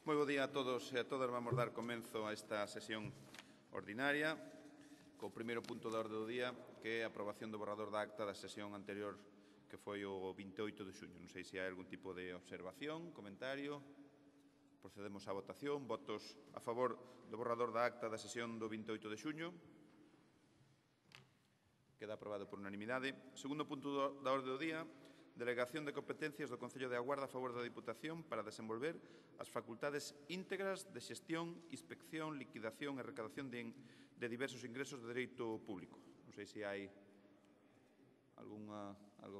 Moi bo día a todos e a todas. Vamos dar comenzo a esta sesión ordinaria co primeiro punto da orde do día, que é a aprobación do borrador da acta da sesión anterior, que foi o 28 de xuño. Non sei se hai algún tipo de observación, comentario. Procedemos á votación. Votos a favor do borrador da acta da sesión do 28 de xuño. Queda aprobado por unanimidade. Segundo punto da orde do día, delegación de competencias do Concello de A Guarda a favor da Diputación para desenvolver as facultades íntegras de xestión, inspección, liquidación e recadación de diversos ingresos de dereito público. Non sei se hai algo a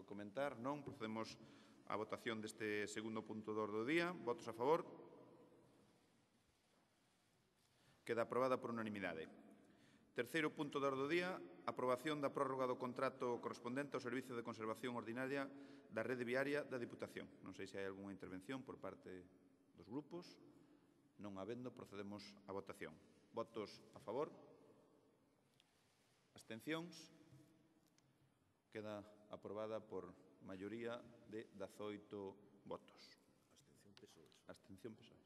comentar. Non. Procedemos á votación deste segundo punto do orde do día. Votos a favor. Queda aprobada por unanimidade. Terceiro punto da orde do día, aprobación da prórroga do contrato correspondente ao Servicio de Conservación Ordinaria da Rede Viaria da Diputación. Non sei se hai algunha intervención por parte dos grupos. Non habendo, procedemos á votación. Votos a favor. Abstencións. Queda aprobada por maioría de 18 votos. Abstención PSOE.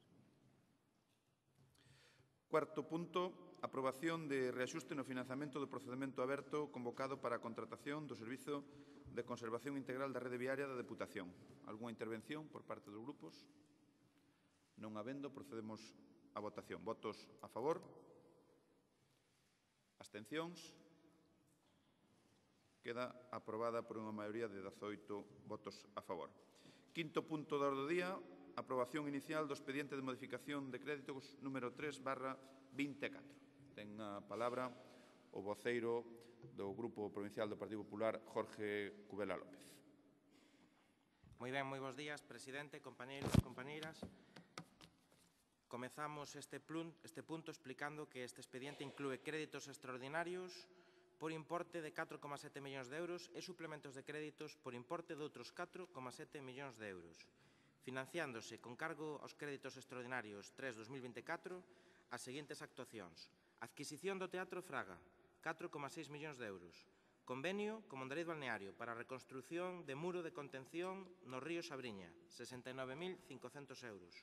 Cuarto punto, aprobación de reaxuste no financiamento do procedimento aberto convocado para a contratación do Servizo de Conservación Integral da Rede Viaria da Deputación. Algúnha intervención por parte dos grupos? Non habendo, procedemos á votación. Votos a favor? Abstencións? Queda aprobada por unha maioría de 18 votos a favor. Quinto punto da orde do día, aprobación inicial do expediente de modificación de créditos número 3/24. Ten a palabra o voceiro do Grupo Provincial do Partido Popular, Jorge Cubela López. Moi ben, moi bons días, presidente, compañeiros e compañeiras. Comezamos este punto explicando que este expediente inclúe créditos extraordinarios por importe de 4,7 millóns de euros e suplementos de créditos por importe de outros 4,7 millóns de euros, financiándose con cargo aos créditos extraordinarios 3-2024 as seguintes actuacións. Adquisición do Teatro Fraga, 4,6 millóns de euros. Convenio con Mondariz Balneario para a reconstrución de muro de contención no río Sabriña, 69.500 euros.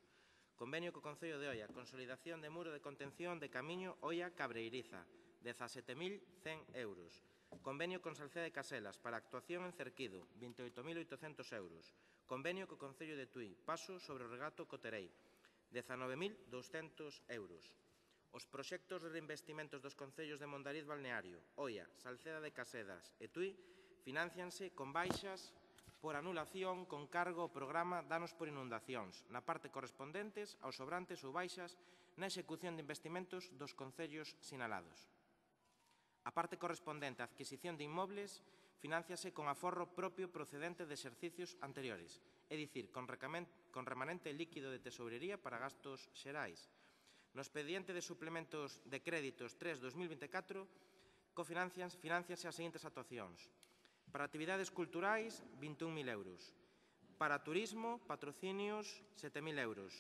Convenio co Concello de Oia, consolidación de muro de contención de Camiño Oia-Cabreiriza, 17.100 euros. Convenio con Salceda de Caselas para actuación en Cerquido, 28.800 euros. Convenio co Concello de Tui, paso sobre o regato Coterei, 19.200 euros. Os proxectos de reinvestimentos dos concellos de Mondariz Balneario, Oia, Salceda de Casedas e Tui financianse con baixas por anulación con cargo ao programa Danos por Inundacións, na parte correspondentes aos sobrantes ou baixas na execución de investimentos dos concellos sinalados. A parte correspondente á adquisición de inmobles financiase con aforro propio procedente de exercicios anteriores, é dicir, con remanente líquido de tesourería para gastos xerais. No expediente de suplementos de créditos 3-2024 financianse as seguintes actuacións. Para actividades culturais, 21.000 euros. Para turismo, patrocinios, 7.000 euros.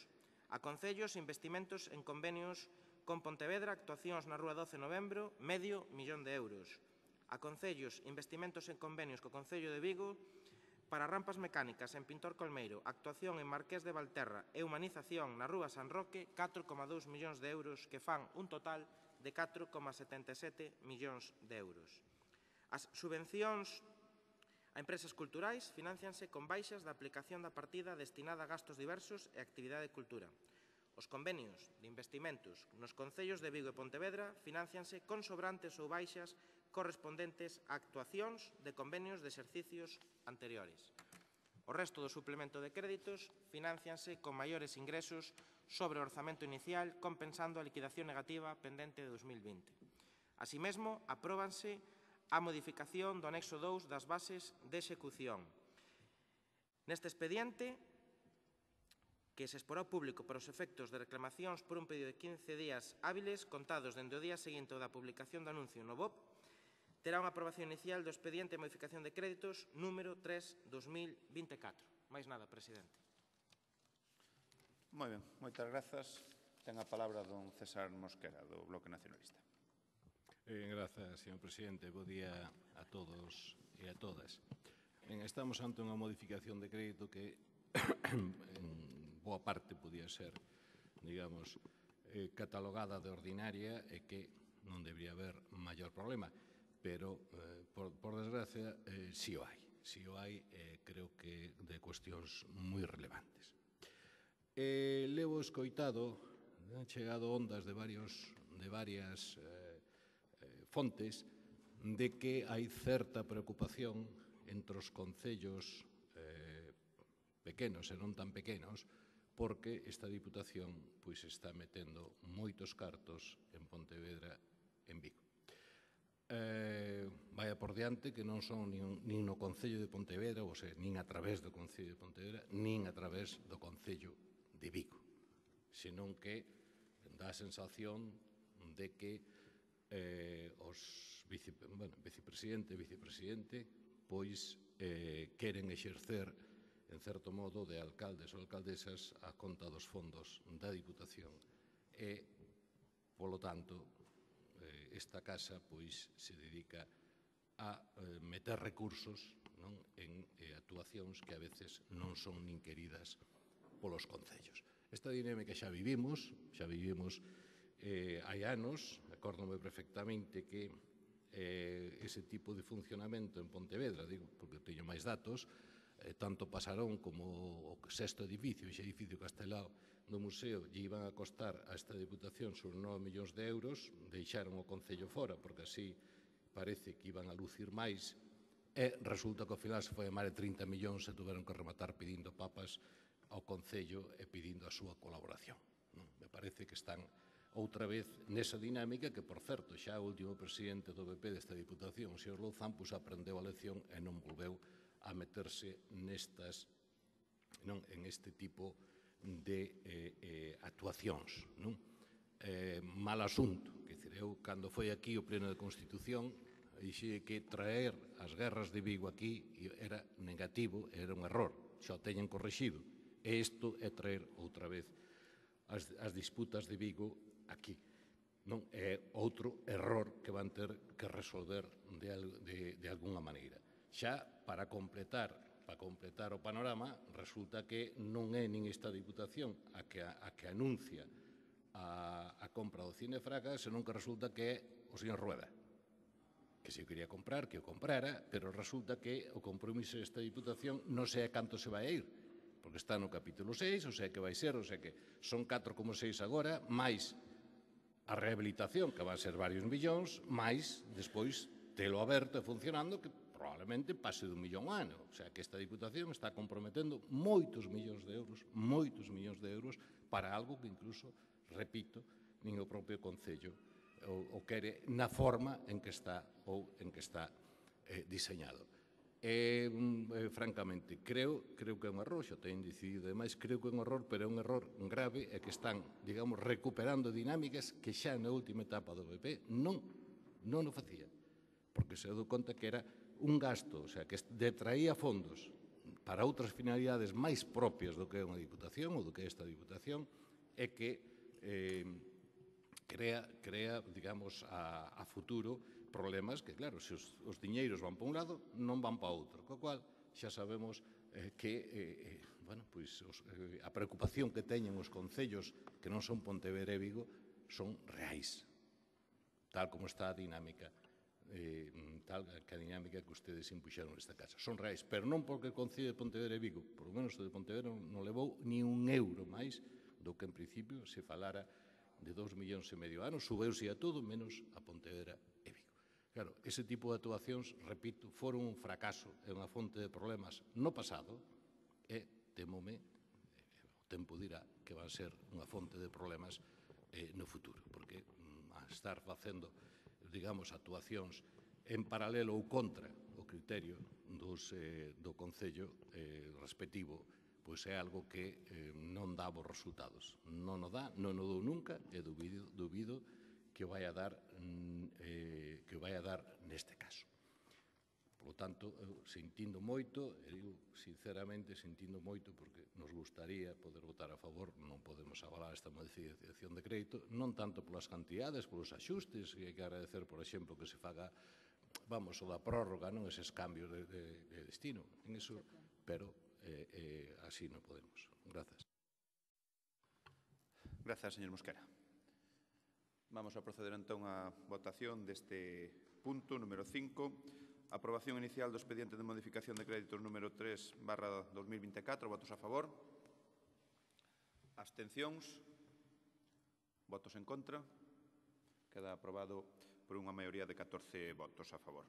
A concellos, investimentos en convenios con Pontevedra, actuacións na Rúa 12 de Novembro, $500.000 de euros. A concellos, investimentos en convenios co Concello de Vigo, para rampas mecánicas en Pintor Colmeiro, actuación en Marqués de Valterra e humanización na Rúa San Roque, 4,2 millóns de euros, que fan un total de 4,77 millóns de euros. As subvencións a empresas culturais financianse con baixas da aplicación da partida destinada a gastos diversos e actividade de cultura. Os convenios de investimentos nos concellos de Vigo e Pontevedra financianse con sobrantes ou baixas correspondentes a actuacións de convenios de exercicios anteriores. O resto do suplemento de créditos financianse con maiores ingresos sobre o orzamento inicial, compensando a liquidación negativa pendente de 2020. Así mesmo, apróbanse a modificación do anexo 2 das bases de execución. Neste expediente, que se exporá ao público para os efectos de reclamacións por un período de 15 días hábiles contados dende o día seguinte da publicación do anuncio no BOP, terá unha aprobación inicial do expediente de modificación de créditos número 3/2024. Máis nada, presidente. Moi ben, moitas grazas. Ten a palabra don César Mosquera, do Bloque Nacionalista. Grazas, señor presidente. Bo día a todos e a todas. Estamos ante unha modificación de crédito que en boa parte podía ser digamos, catalogada de ordinaria e que non debería haber maior problema, pero, por desgracia, si o hai. Si o hai, creo que de cuestións moi relevantes. Levo escoitado, han chegado ondas de varias fontes de que hai certa preocupación entre os concellos pequenos e non tan pequenos porque esta Diputación pois está metendo moitos cartos en Pontevedra e en Vigo. Vaya por diante que non son nin no Concello de Pontevedra, ou seja, nin a través do Concello de Pontevedra, nin a través do Concello de Vigo, senón que dá a sensación de que os vicepresidente e vicepresidente pois queren exercer en certo modo de alcaldes ou alcaldesas a conta dos fondos da Diputación e, polo tanto, esta casa pois se dedica a meter recursos en actuacións que a veces non son nin queridas polos concellos. Esta dinámica xa vivimos hai anos, acórdome perfectamente que ese tipo de funcionamento en Pontevedra, digo, porque teño máis datos, tanto Pasarón como o sexto edificio, ese edificio castelao do museo, lle iban a costar a esta Diputación sobre 9 millóns de euros, deixaron o Concello fora, porque así parece que iban a lucir máis, e resulta que ao final se foi a máis de 30 millóns e tuveron que rematar pedindo papas ao Concello e pedindo a súa colaboración. Me parece que están outra vez nesa dinámica que, por certo, xa o último presidente do PP desta Diputación, o señor Louzán, aprendeu a lección e non volveu a meterse en este tipo de actuacións. Mal asunto. Eu, cando foi aquí o Pleno de Constitución, dixei que traer as guerras de Vigo aquí era negativo, era un error, xa o teñen correxido. E isto é traer outra vez as disputas de Vigo aquí. É outro error que van ter que resolver de alguna maneira. Xa, para completar o panorama, resulta que non é nin esta Diputación a que anuncia a compra do Cine Fraga, senón que resulta que é o señor Rueda, que se o quería comprar, que o comprara, pero resulta que o compromiso desta Diputación non sei a canto se vai a ir, porque está no capítulo 6, o sea que vai ser, o sea que son 4,6 agora, máis a rehabilitación, que van ser varios millóns, máis, despois, telo aberto e funcionando, que probablemente pase de 1 millón ao ano. O sea, que esta Diputación está comprometendo moitos millóns de euros para algo que incluso, repito, nin o propio Concello o quere na forma en que está diseñado. Francamente, creo que é un error, xa teñen decidido, ademais, creo que é un error, pero é un error grave e que están, digamos, recuperando dinámicas que xa na última etapa do PP non o facía, porque se deu conta que era un gasto, o sea, que detraía fondos para outras finalidades máis propias do que é unha Diputación ou do que é esta Diputación e que crea, digamos, a futuro problemas que, claro, se os diñeiros van para un lado, non van para outro, co cual xa sabemos que a preocupación que teñen os concellos que non son Pontevedra e Vigo son reais, tal como está a dinámica que ustedes impuxeron nesta casa. Son reais, pero non porque o Concello de Pontevedra e Vigo, por lo menos o de Pontevedra, non levou ni un euro máis do que en principio se falara de 2,5 millóns ano, subeuse a todo menos a Pontevedra e Vigo. Claro, ese tipo de actuacións, repito, foron un fracaso e unha fonte de problemas no pasado e temome, o tempo dirá, que van ser unha fonte de problemas no futuro, porque a estar facendo, digamos, actuacións en paralelo ou contra o criterio do Concello respectivo, pois é algo que non dá bons resultados. Non o dá, non o dou nunca, e dubido que o vai a dar neste caso. Por lo tanto, sentindo moito, e digo sinceramente, sentindo moito, porque nos gustaría poder votar a favor, non podemos avalar esta modificación de crédito, non tanto polas cantidades, polos axustes, e hai que agradecer, por exemplo, que se faga, o da prórroga, non eses cambios de destino, en eso, pero así non podemos. Grazas. Grazas, señor Mosquera. Vamos a proceder entón á votación deste punto número 5. Aprobación inicial do expediente de modificación de créditos número 3/2024. Votos a favor. Abstencións. Votos en contra. Queda aprobado por unha maioría de 14 votos a favor.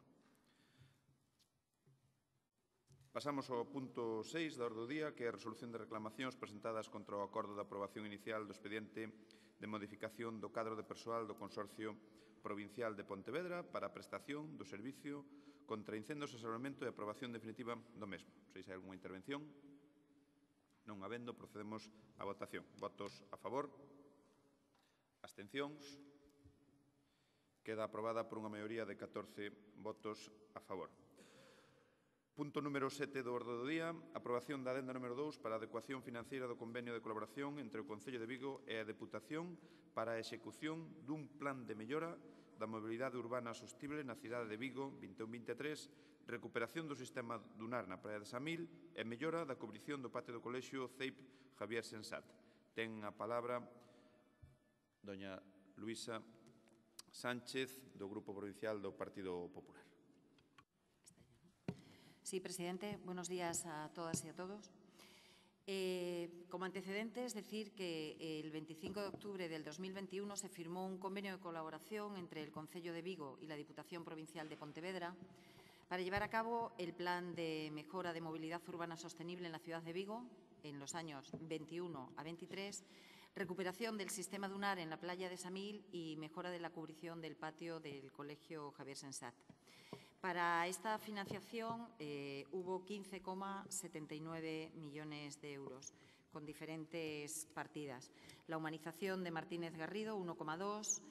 Pasamos ao punto 6 da orde do día, que é a resolución de reclamacións presentadas contra o acordo de aprobación inicial do expediente de modificación do cadro de persoal do Consorcio Provincial de Pontevedra para a prestación do servicio contra incendios e salvamento e aprobación definitiva do mesmo. Non sei se hai algunha intervención. Non habendo, procedemos á votación. Votos a favor. Abstencións. Queda aprobada por unha maioría de 14 votos a favor. Punto número 7 do orde do día, aprobación da adenda número 2 para a adecuación financiera do convenio de colaboración entre o Concello de Vigo e a Deputación para a execución dun plan de mellora da mobilidade urbana sostible na cidade de Vigo 21-23, recuperación do sistema dunar na Praia de Samil e mellora da cubrición do patio do colexio CEIP Javier Sensat. Ten a palabra doña Luisa Sánchez, do Grupo Provincial do Partido Popular. Sí, presidente. Buenos días a todas y a todos. Como antecedentes, decir que el 25 de octubre del 2021 se firmó un convenio de colaboración entre el Concello de Vigo y la Diputación Provincial de Pontevedra para llevar a cabo el plan de mejora de movilidad urbana sostenible en la ciudad de Vigo en los años 21 a 23, recuperación del sistema dunar en la playa de Samil y mejora de la cubrición del patio del Colegio Javier Sensat. Para esta financiación hubo 15,79 millones de euros con diferentes partidas. La humanización de Martínez Garrido, 1,2.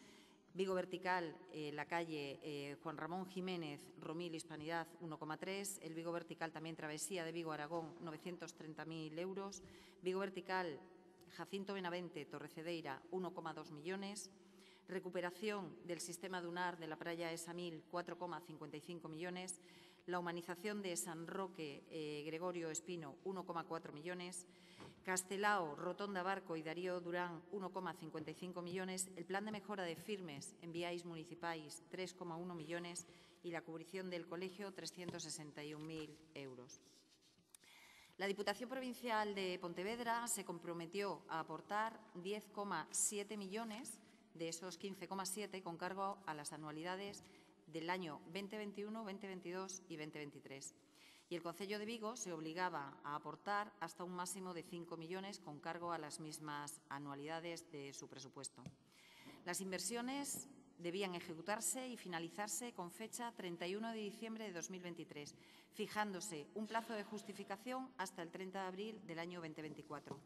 Vigo Vertical, la calle Juan Ramón Jiménez, Romil Hispanidad, 1,3. El Vigo Vertical también Travesía de Vigo Aragón, 930.000 euros. Vigo Vertical Jacinto Benavente, Torrecedeira, 1,2 millones. Recuperación del sistema dunar de la playa de Samil, 4,55 millones. La humanización de San Roque Gregorio Espino, 1,4 millones. Castelao, Rotonda Barco y Darío Durán, 1,55 millones. El plan de mejora de firmes en viais municipais, 3,1 millones. Y la cubrición del colegio, 361.000 euros. La Diputación Provincial de Pontevedra se comprometió a aportar 10,7 millones de esos 15,7 con cargo a las anualidades del año 2021, 2022 y 2023. Y el Concello de Vigo se obligaba a aportar hasta un máximo de 5 millones con cargo a las mismas anualidades de su presupuesto. Las inversiones debían ejecutarse y finalizarse con fecha 31 de diciembre de 2023, fijándose un plazo de justificación hasta el 30 de abril del año 2024.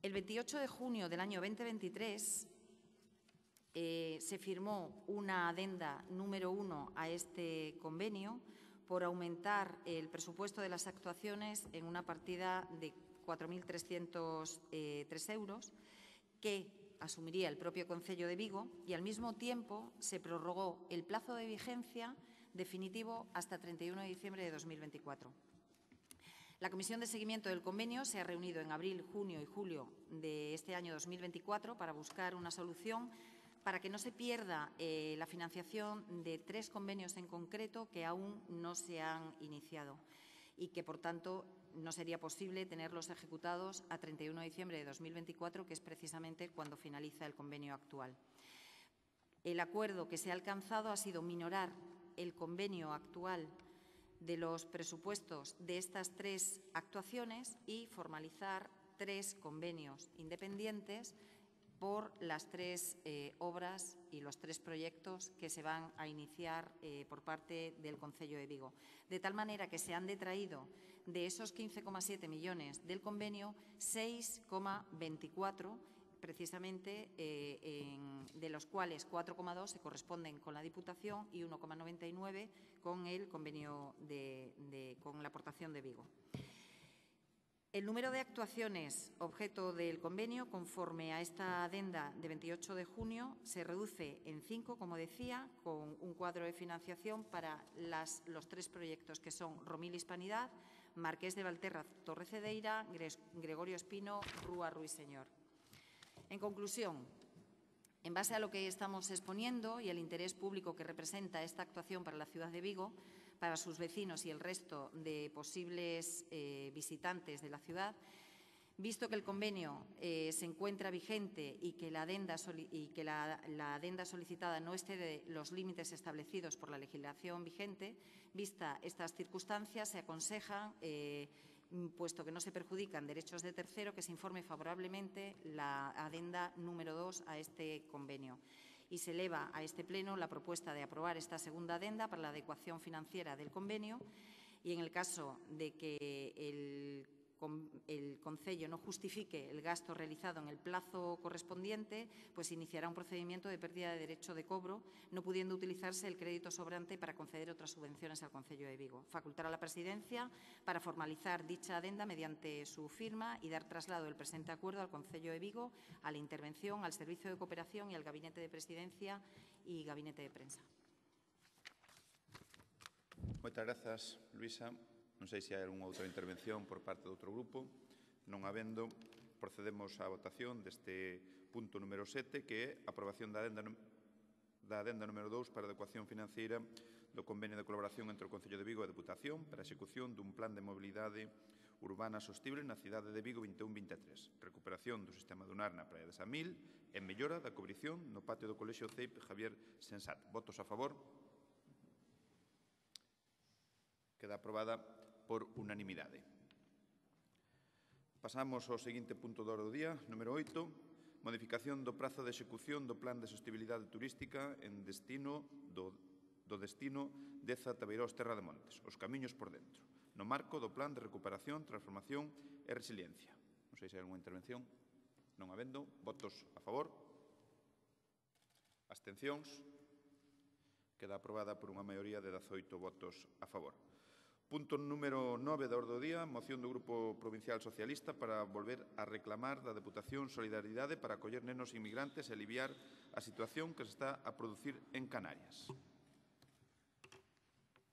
El 28 de junio del año 2023 se firmó una adenda número 1 a este convenio por aumentar el presupuesto de las actuaciones en una partida de 4.303 euros que asumiría el propio Concello de Vigo y al mismo tiempo se prorrogó el plazo de vigencia definitivo hasta 31 de diciembre de 2024. La Comisión de Seguimiento del Convenio se ha reunido en abril, junio y julio de este año 2024 para buscar una solución para que no se pierda la financiación de 3 convenios en concreto que aún no se han iniciado y que, por tanto, no sería posible tenerlos ejecutados a 31 de diciembre de 2024, que es precisamente cuando finaliza el convenio actual. El acuerdo que se ha alcanzado ha sido minorar el convenio actual de los presupuestos de estas 3 actuaciones y formalizar 3 convenios independientes por las 3 obras y los 3 proyectos que se van a iniciar por parte del Concello de Vigo. De tal manera que se han detraído de esos 15,7 millones del convenio 6,24 precisamente, de los cuales 4,2 se corresponden con la Diputación y 1,99 con el convenio con la aportación de Vigo. El número de actuaciones objeto del convenio, conforme a esta adenda de 28 de junio, se reduce en 5, como decía, con un cuadro de financiación para los 3 proyectos que son Romil Hispanidad, Marqués de Valterra, Torre Cedeira, Gregorio Espino, Rúa Ruiseñor. En conclusión, en base a lo que estamos exponiendo y el interés público que representa esta actuación para la ciudad de Vigo, para sus vecinos y el resto de posibles visitantes de la ciudad, visto que el convenio se encuentra vigente y que la adenda solicitada no excede los límites establecidos por la legislación vigente, vista estas circunstancias, se aconseja, puesto que no se perjudican derechos de tercero, que se informe favorablemente la adenda número 2 a este convenio. Y se eleva a este pleno la propuesta de aprobar esta segunda adenda para la adecuación financiera del convenio y en el caso de que el Concello no justifique el gasto realizado en el plazo correspondiente, pues iniciará un procedimiento de pérdida de derecho de cobro, no pudiendo utilizarse el crédito sobrante para conceder otras subvenciones al Concello de Vigo. Facultar a la Presidencia para formalizar dicha adenda mediante su firma y dar traslado del presente acuerdo al Concello de Vigo, a la intervención, al Servicio de Cooperación y al Gabinete de Presidencia y Gabinete de Prensa. Moitas grazas, Luisa. Non sei se hai algunha outra intervención por parte do outro grupo. Non habendo, procedemos á votación deste punto número 7, que é a aprobación da adenda número 2 para a adecuación financeira do convenio de colaboración entre o Concello de Vigo e a Deputación para a execución dun plan de mobilidade urbana sostible na cidade de Vigo 21-23, recuperación do sistema dunar na praia de Samil e mellora da cubrición no patio do Colexio CEIP Javier Sensat. Votos a favor? Queda aprobada por unanimidade. Pasamos ao seguinte punto do orde do día, número 8, modificación do prazo de execución do Plan de Sostibilidade Turística en destino do destino Deza Tabeirós Terra de Montes, os camiños por dentro, no marco do Plan de Recuperación, Transformación e Resiliencia. Non sei se hai alguna intervención. Non habendo, votos a favor. Abstencións. Queda aprobada por unha maioría de 18 votos a favor. Punto número 9 da orde do día, moción do Grupo Provincial Socialista para volver a reclamar da Deputación solidaridade para acoller nenos inmigrantes e aliviar a situación que se está a producir en Canarias.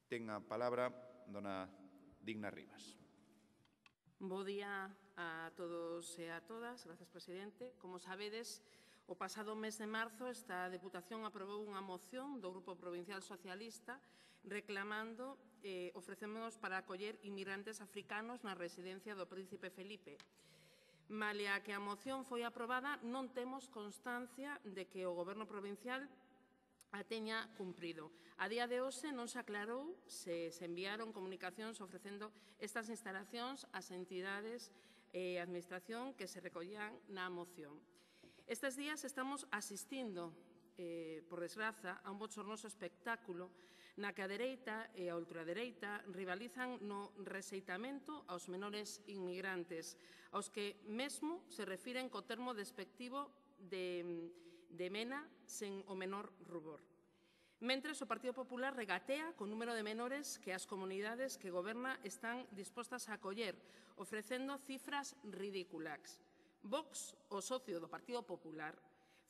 Ten a palabra dona Digna Rivas. Bo día a todos e a todas. Gracias, presidente. Como sabedes, o pasado mes de marzo esta Deputación aprobou unha moción do Grupo Provincial Socialista reclamando ofrecémonos para acoller inmigrantes africanos na residencia do Príncipe Felipe. Malia que a moción foi aprobada, non temos constancia de que o Goberno provincial a teña cumprido. A día de hoxe non se aclarou se enviaron comunicacións ofrecendo estas instalacións ás entidades e administración que se recollían na moción. Estes días estamos asistindo, por desgraza, a un bochornoso espectáculo na que a dereita e a ultradereita rivalizan no rexeitamento aos menores inmigrantes, aos que mesmo se refiren co termo despectivo de mena sen o menor rubor. Mentres, o Partido Popular regatea co número de menores que as comunidades que goberna están dispostas a acoller, ofrecendo cifras ridículas. Vox, o socio do Partido Popular,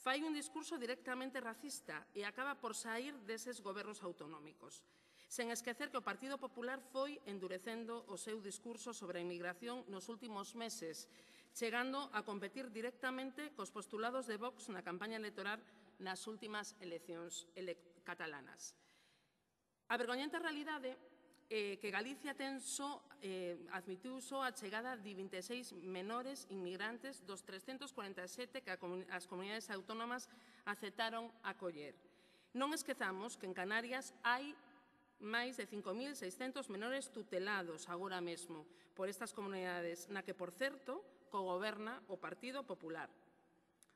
fai un discurso directamente racista e acaba por saír deses gobernos autonómicos, sen esquecer que o Partido Popular foi endurecendo o seu discurso sobre a inmigración nos últimos meses, chegando a competir directamente cos postulados de Vox na campaña electoral nas últimas eleccións catalanas. A vergoñenta realidade que Galicia admitiu só a chegada de 26 menores inmigrantes dos 347 que as comunidades autónomas aceptaron acoller. Non esquezamos que en Canarias hai máis de 5.600 menores tutelados agora mesmo por estas comunidades, na que, por certo, cogoberna o Partido Popular.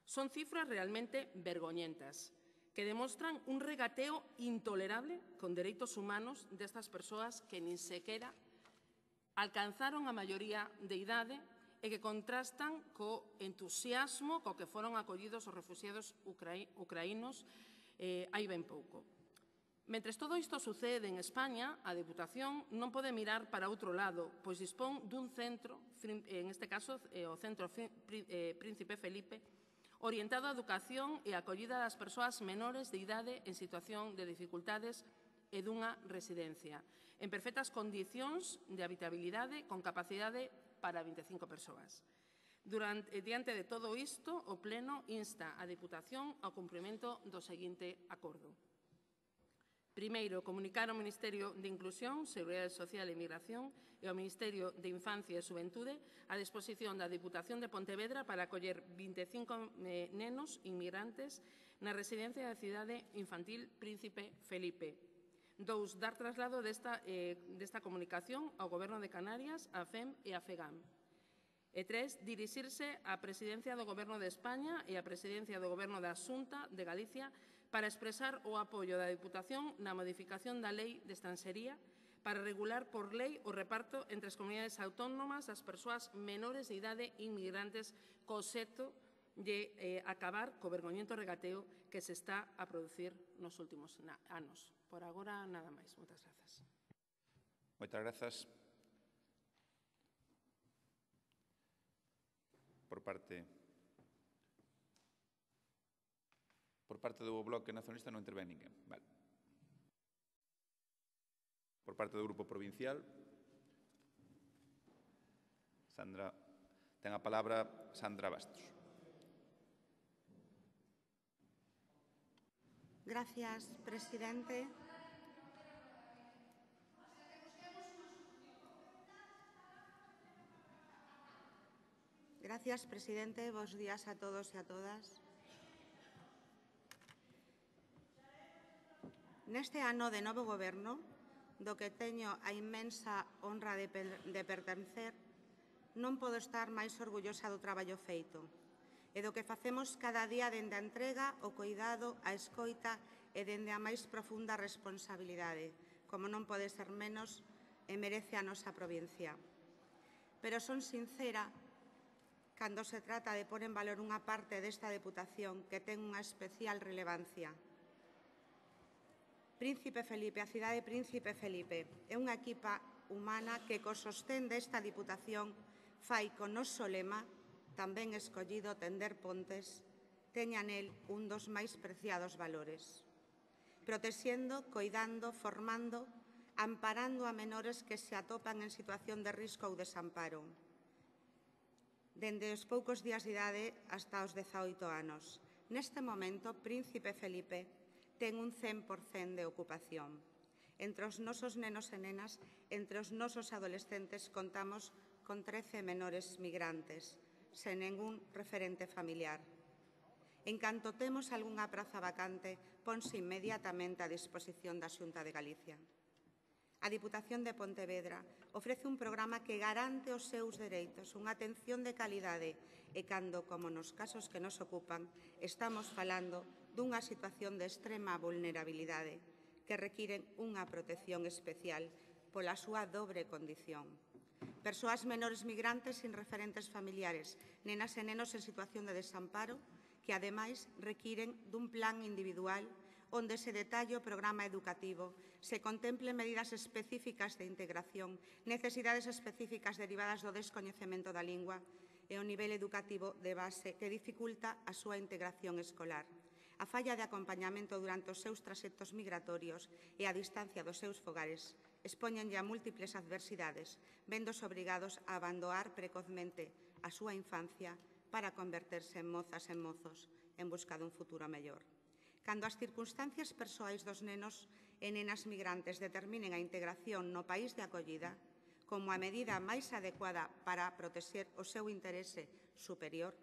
Son cifras realmente vergoñentas, que demostran un regateo intolerable con dereitos humanos destas persoas que nin sequera alcanzaron a maioría de idade e que contrastan co entusiasmo co que foron acollidos os refuxiados ucraínos hai ben pouco. Mentres todo isto sucede en España, a Deputación non pode mirar para outro lado, pois dispón dun centro, en este caso o Centro Príncipe Felipe, orientado á educación e a acollida das persoas menores de idade en situación de dificultades e dunha residencia, en perfectas condicións de habitabilidade con capacidade para 25 persoas. Diante de todo isto, o Pleno insta a Deputación ao cumprimento do seguinte acordo. Primeiro, comunicar ao Ministerio de Inclusión, Seguridade Social e Migración e ao Ministerio de Infancia e Xuventude a disposición da Deputación de Pontevedra para acoller 25 nenos inmigrantes na residencia da cidade infantil Príncipe Felipe. 2, dar traslado desta comunicación ao Goberno de Canarias, a FEM e a FEGAM. E 3, dirixirse á Presidencia do Goberno de España e á Presidencia do Goberno da Xunta de Galicia para expresar o apoio da Deputación na modificación da Lei de Estranxería para regular por lei o reparto entre as comunidades autónomas das persoas menores de idade inmigrantes co obxecto de acabar co vergoñento regateo que se está a producir nos últimos anos. Por agora, nada máis. Moitas grazas. Moitas grazas. Por parte do Bloque Nacionalista non intervén ninguén. Vale. Por parte do Grupo Provincial, ten a palabra Sandra Bastos. Gracias, presidente. Gracias, presidente. Bos días a todos e a todas. Neste ano de novo goberno, do que teño a inmensa honra de pertencer, non podo estar máis orgullosa do traballo feito e do que facemos cada día dende a entrega, o coidado, a escoita e dende a máis profunda responsabilidade, como non pode ser menos e merece a nosa provincia. Pero son sincera cando se trata de pôr en valor unha parte desta Deputación que ten unha especial relevancia. Príncipe Felipe, a cidade Príncipe Felipe, é unha equipa humana que co sostén desta Diputación fai co noso lema, tamén escollido tender pontes, teña nel un dos máis preciados valores. Protexendo, coidando, formando, amparando a menores que se atopan en situación de risco ou desamparo. Dende os poucos días de idade hasta os 18 anos. Neste momento, Príncipe Felipe ten un 100% de ocupación. Entre os nosos nenos e nenas, entre os nosos adolescentes, contamos con 13 menores migrantes, sen ningún referente familiar. En canto temos algunha praza vacante, ponse inmediatamente a disposición da Xunta de Galicia. A Diputación de Pontevedra ofrece un programa que garante os seus dereitos, unha atención de calidade e cando, como nos casos que nos ocupan, estamos falando dunha situación de extrema vulnerabilidade que requiren unha protección especial pola súa dobre condición. Persoas menores migrantes sin referentes familiares, nenas e nenos en situación de desamparo que, ademais, requiren dun plan individual onde se detalle o programa educativo, se contemplen medidas específicas de integración, necesidades específicas derivadas do descoñecemento da lingua e o nivel educativo de base que dificulta a súa integración escolar. A falla de acompañamento durante os seus traxectos migratorios e a distancia dos seus fogares expoñenlle a múltiples adversidades, véndose obrigados a abandonar precozmente a súa infancia para converterse en mozas e mozos en busca dun futuro mellor. Cando as circunstancias persoais dos nenos e nenas migrantes determinen a integración no país de acollida como a medida máis adecuada para protexer o seu interese superior,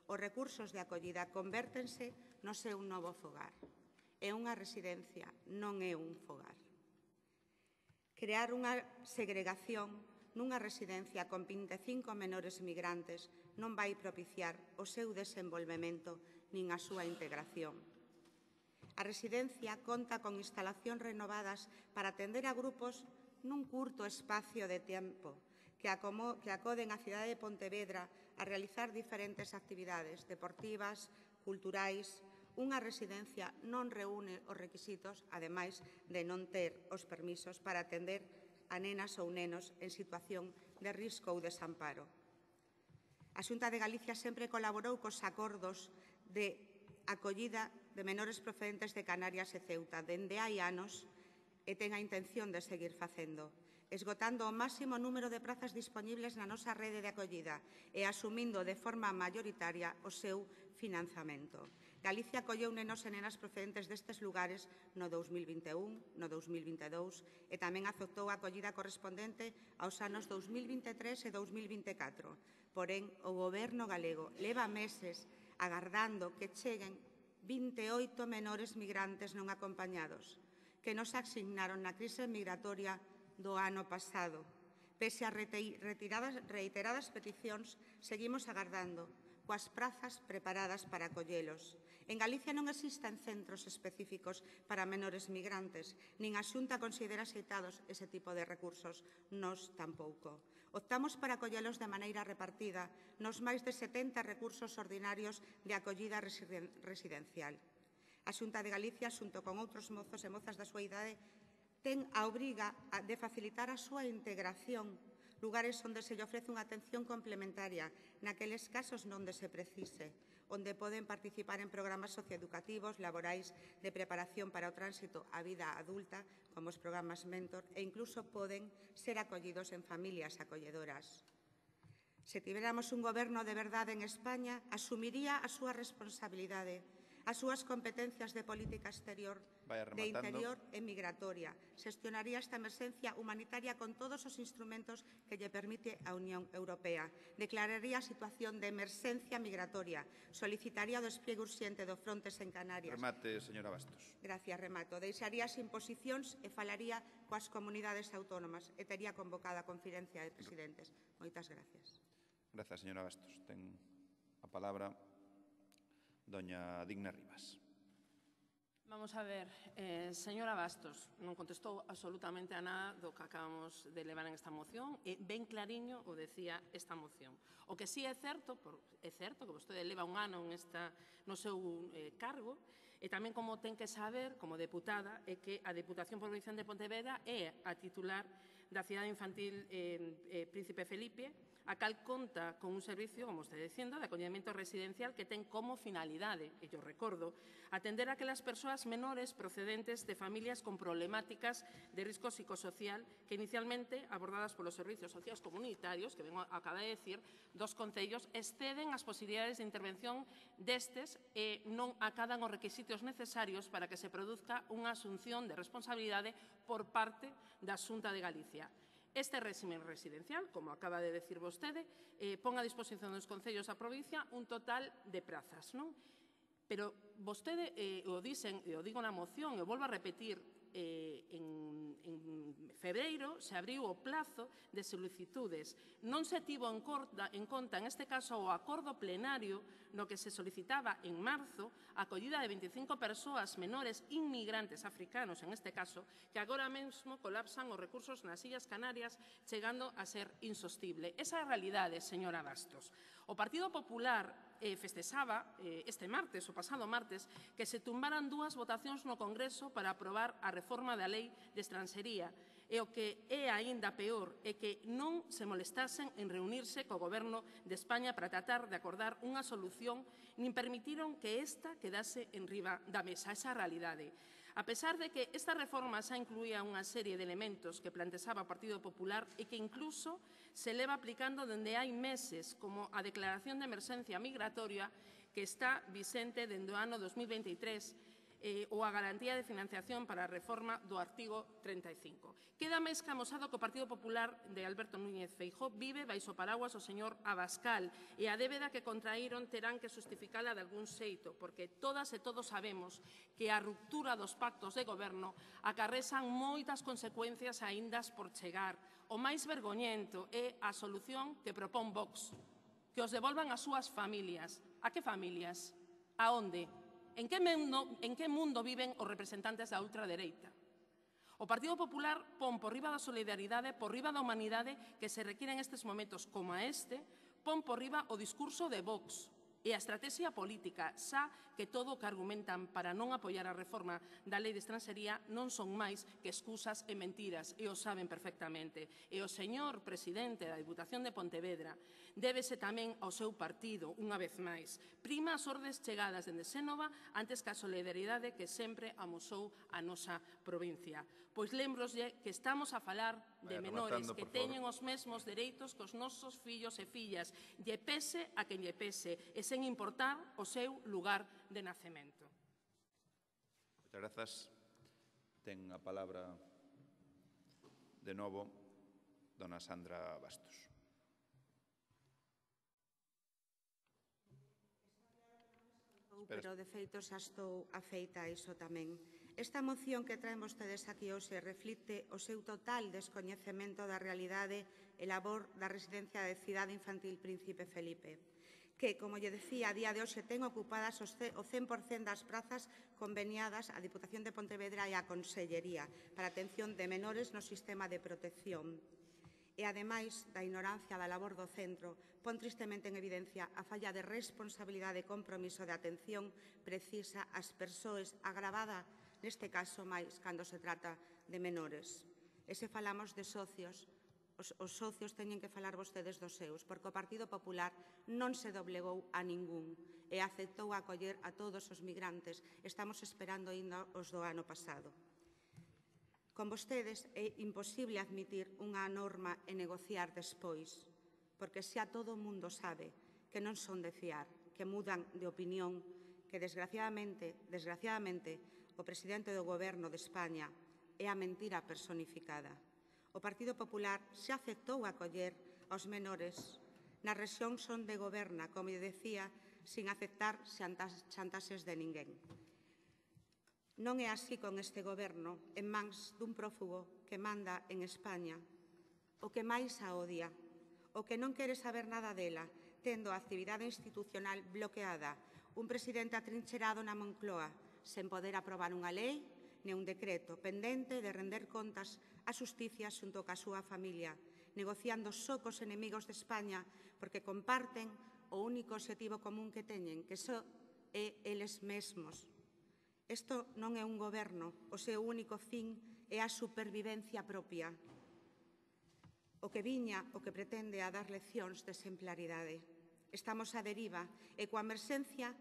os recursos de acollida convértense no seu novo fogar. É unha residencia, non é un fogar. Crear unha segregación nunha residencia con 25 menores migrantes non vai propiciar o seu desenvolvemento nin a súa integración. A residencia conta con instalacións renovadas para atender a grupos nun curto espacio de tempo que acoden a cidade de Pontevedra a realizar diferentes actividades deportivas, culturais unha residencia non reúne os requisitos, ademais de non ter os permisos para atender a nenas ou nenos en situación de risco ou desamparo. A Xunta de Galicia sempre colaborou cos acordos de acollida de menores procedentes de Canarias e Ceuta dende hai anos e ten a intención de seguir facendo, esgotando o máximo número de prazas disponibles na nosa rede de acollida e asumindo de forma maioritaria o seu financiamento. Galicia acolleu nenos e nenas procedentes destes lugares no 2021, no 2022 e tamén aceptou a acollida correspondente aos anos 2023 e 2024. Porén, o Goberno galego leva meses agardando que cheguen 28 menores migrantes non acompañados que nos asignaron na crise migratoria do ano pasado. Pese a reiteradas peticións, seguimos agardando coas prazas preparadas para acollelos. En Galicia non existen centros específicos para menores migrantes, nin a Xunta considera axeitados ese tipo de recursos, nós tampouco. Optamos para acollelos de maneira repartida nos máis de 70 recursos ordinarios de acollida residencial. A Xunta de Galicia, xunto con outros mozos e mozas da súa idade, ten a obriga de facilitar a súa integración, lugares onde se lle ofrece unha atención complementaria naqueles casos onde se precise, onde poden participar en programas socioeducativos, laborais, de preparación para o tránsito á vida adulta, como os programas Mentor, e incluso poden ser acollidos en familias acolledoras. Se tivéramos un goberno de verdade en España, asumiría a súa responsabilidade, as súas competencias de política exterior, de interior e migratoria. Xestionaría esta emerxencia humanitaria con todos os instrumentos que lle permite a Unión Europea. Declararía a situación de emerxencia migratoria. Solicitaría o despliegue urxente do Frontex en Canarias. Remate, señora Bastos. Gracias, remato. Deixaría as imposicións e falaría coas comunidades autónomas e tería convocada a conferencia de presidentes. Moitas gracias. Grazas, señora Bastos. Ten a palabra doña Digna Rivas. Vamos a ver, señora Bastos, non contestou absolutamente a nada do que acabamos de levar en esta moción e ben clariño o decía esta moción. O que sí é certo que vostede leva un ano no seu cargo e tamén como ten que saber, como deputada, é que a Deputación Provincial de Pontevedra é a titular da Cidade Infantil Príncipe Felipe, a cal conta con un servicio, como está dicindo, de acollemento residencial que ten como finalidade, e yo recordo, atender a aquelas persoas menores procedentes de familias con problemáticas de risco psicosocial que inicialmente, abordadas polos servicios sociais comunitarios, que vengo a acabar de decir, dos concellos, exceden as posibilidades de intervención destes e non acadan os requisitos necesarios para que se produzca unha asunción de responsabilidade por parte da Xunta de Galicia. Este réxime residencial, como acaba de decir vostede, pon a disposición dos concellos da provincia un total de prazas, non? Pero vostede o dixen, e o digo na moción, e o volvo a repetir, en febreiro se abriu o plazo de solicitudes. Non se tivo en conta, en este caso, o acordo plenario no que se solicitaba en marzo a acollida de 25 persoas menores inmigrantes africanos, en este caso, que agora mesmo colapsan os recursos nas Illas Canarias, chegando a ser insostible. Esa é a realidade, señora Bastos. O Partido Popular festexaba este martes, o pasado martes, que se tumbaran 2 votacións no Congreso para aprobar a reforma da Lei de Estranxería. E o que é aínda peor é que non se molestasen en reunirse co Goberno de España para tratar de acordar unha solución, nin permitiron que esta quedase en riba da mesa. Esa realidade. A pesar de que esta reforma xa incluía unha serie de elementos que plantexaba o Partido Popular e que incluso se leva aplicando dende hai meses, como a declaración de emerxencia migratoria que está vixente dende o ano 2023, ou a garantía de financiación para a reforma do artigo 35. Queda máis que amosado que o Partido Popular de Alberto Núñez Feijóo vive baixo paraguas o señor Abascal e a débeda que contraíron terán que justificala de algún xeito, porque todas e todos sabemos que a ruptura dos pactos de goberno acarrexan moitas consecuencias aíndas por chegar. O máis vergoñento é a solución que propón Vox, que os devolvan ás súas familias. A que familias? A onde? En que mundo viven os representantes da ultradereita? O Partido Popular pon por riba da solidaridade, por riba da humanidade que se require en estes momentos como a este, pon por riba o discurso de Vox, E a estrategia política, xa que todo o que argumentan para non apoiar a reforma da Lei de Estranxería non son máis que excusas e mentiras, e o saben perfectamente. E o señor presidente da Diputación de Pontevedra débese tamén ao seu partido, unha vez máis. Prima as ordes chegadas dende Xénova antes que a solidaridade que sempre amosou a nosa provincia. Pois lembroslle que estamos a falar de menores que teñen os mesmos dereitos que os nosos fillos e fillas, lle pese a quen lle pese, e sen importar o seu lugar de nacemento. Moitas grazas. Ten a palabra de novo dona Sandra Bastos. Pero, de feito, xa estou afeita a iso tamén. Esta moción que traen vostedes aquí hoxe reflicte o seu total descoñecemento da realidade e labor da residencia de Cidade Infantil Príncipe Felipe, que, como lle decía, a día de hoxe ten ocupadas o 100% das prazas conveniadas á Diputación de Pontevedra e á Consellería para a atención de menores no sistema de protección. E, ademais da ignorancia da labor do centro, pon tristemente en evidencia a falla de responsabilidade e compromiso de atención precisa ás persoas, agravada neste caso máis cando se trata de menores. E se falamos de socios, os socios teñen que falar vostedes dos seus, porque o Partido Popular non se doblegou a ningún e aceptou acoller a todos os migrantes. Estamos esperando ainda os do ano pasado. Con vostedes é imposible admitir unha norma e negociar despois, porque xa todo o mundo sabe que non son de fiar, que mudan de opinión, que desgraciadamente, o presidente do Goberno de España é a mentira personificada. O Partido Popular xa aceptou acoller aos menores nas rexións onde goberna, como lle decía, sin aceptar chantaxes de ninguén. Non é así con este Goberno en mans dun prófugo que manda en España, o que máis a odia, o que non quere saber nada dela, tendo a actividade institucional bloqueada, un presidente atrincherado na Moncloa, sen poder aprobar unha lei nin un decreto, pendente de render contas á xusticia xunto ca súa familia, negociando só cos enemigos de España porque comparten o único obxectivo común que teñen, que só é eles mesmos. Isto non é un goberno, o seu único fin é a supervivencia propia. O que pretende a dar leccións de exemplaridade. Estamos á deriva e coa emerxencia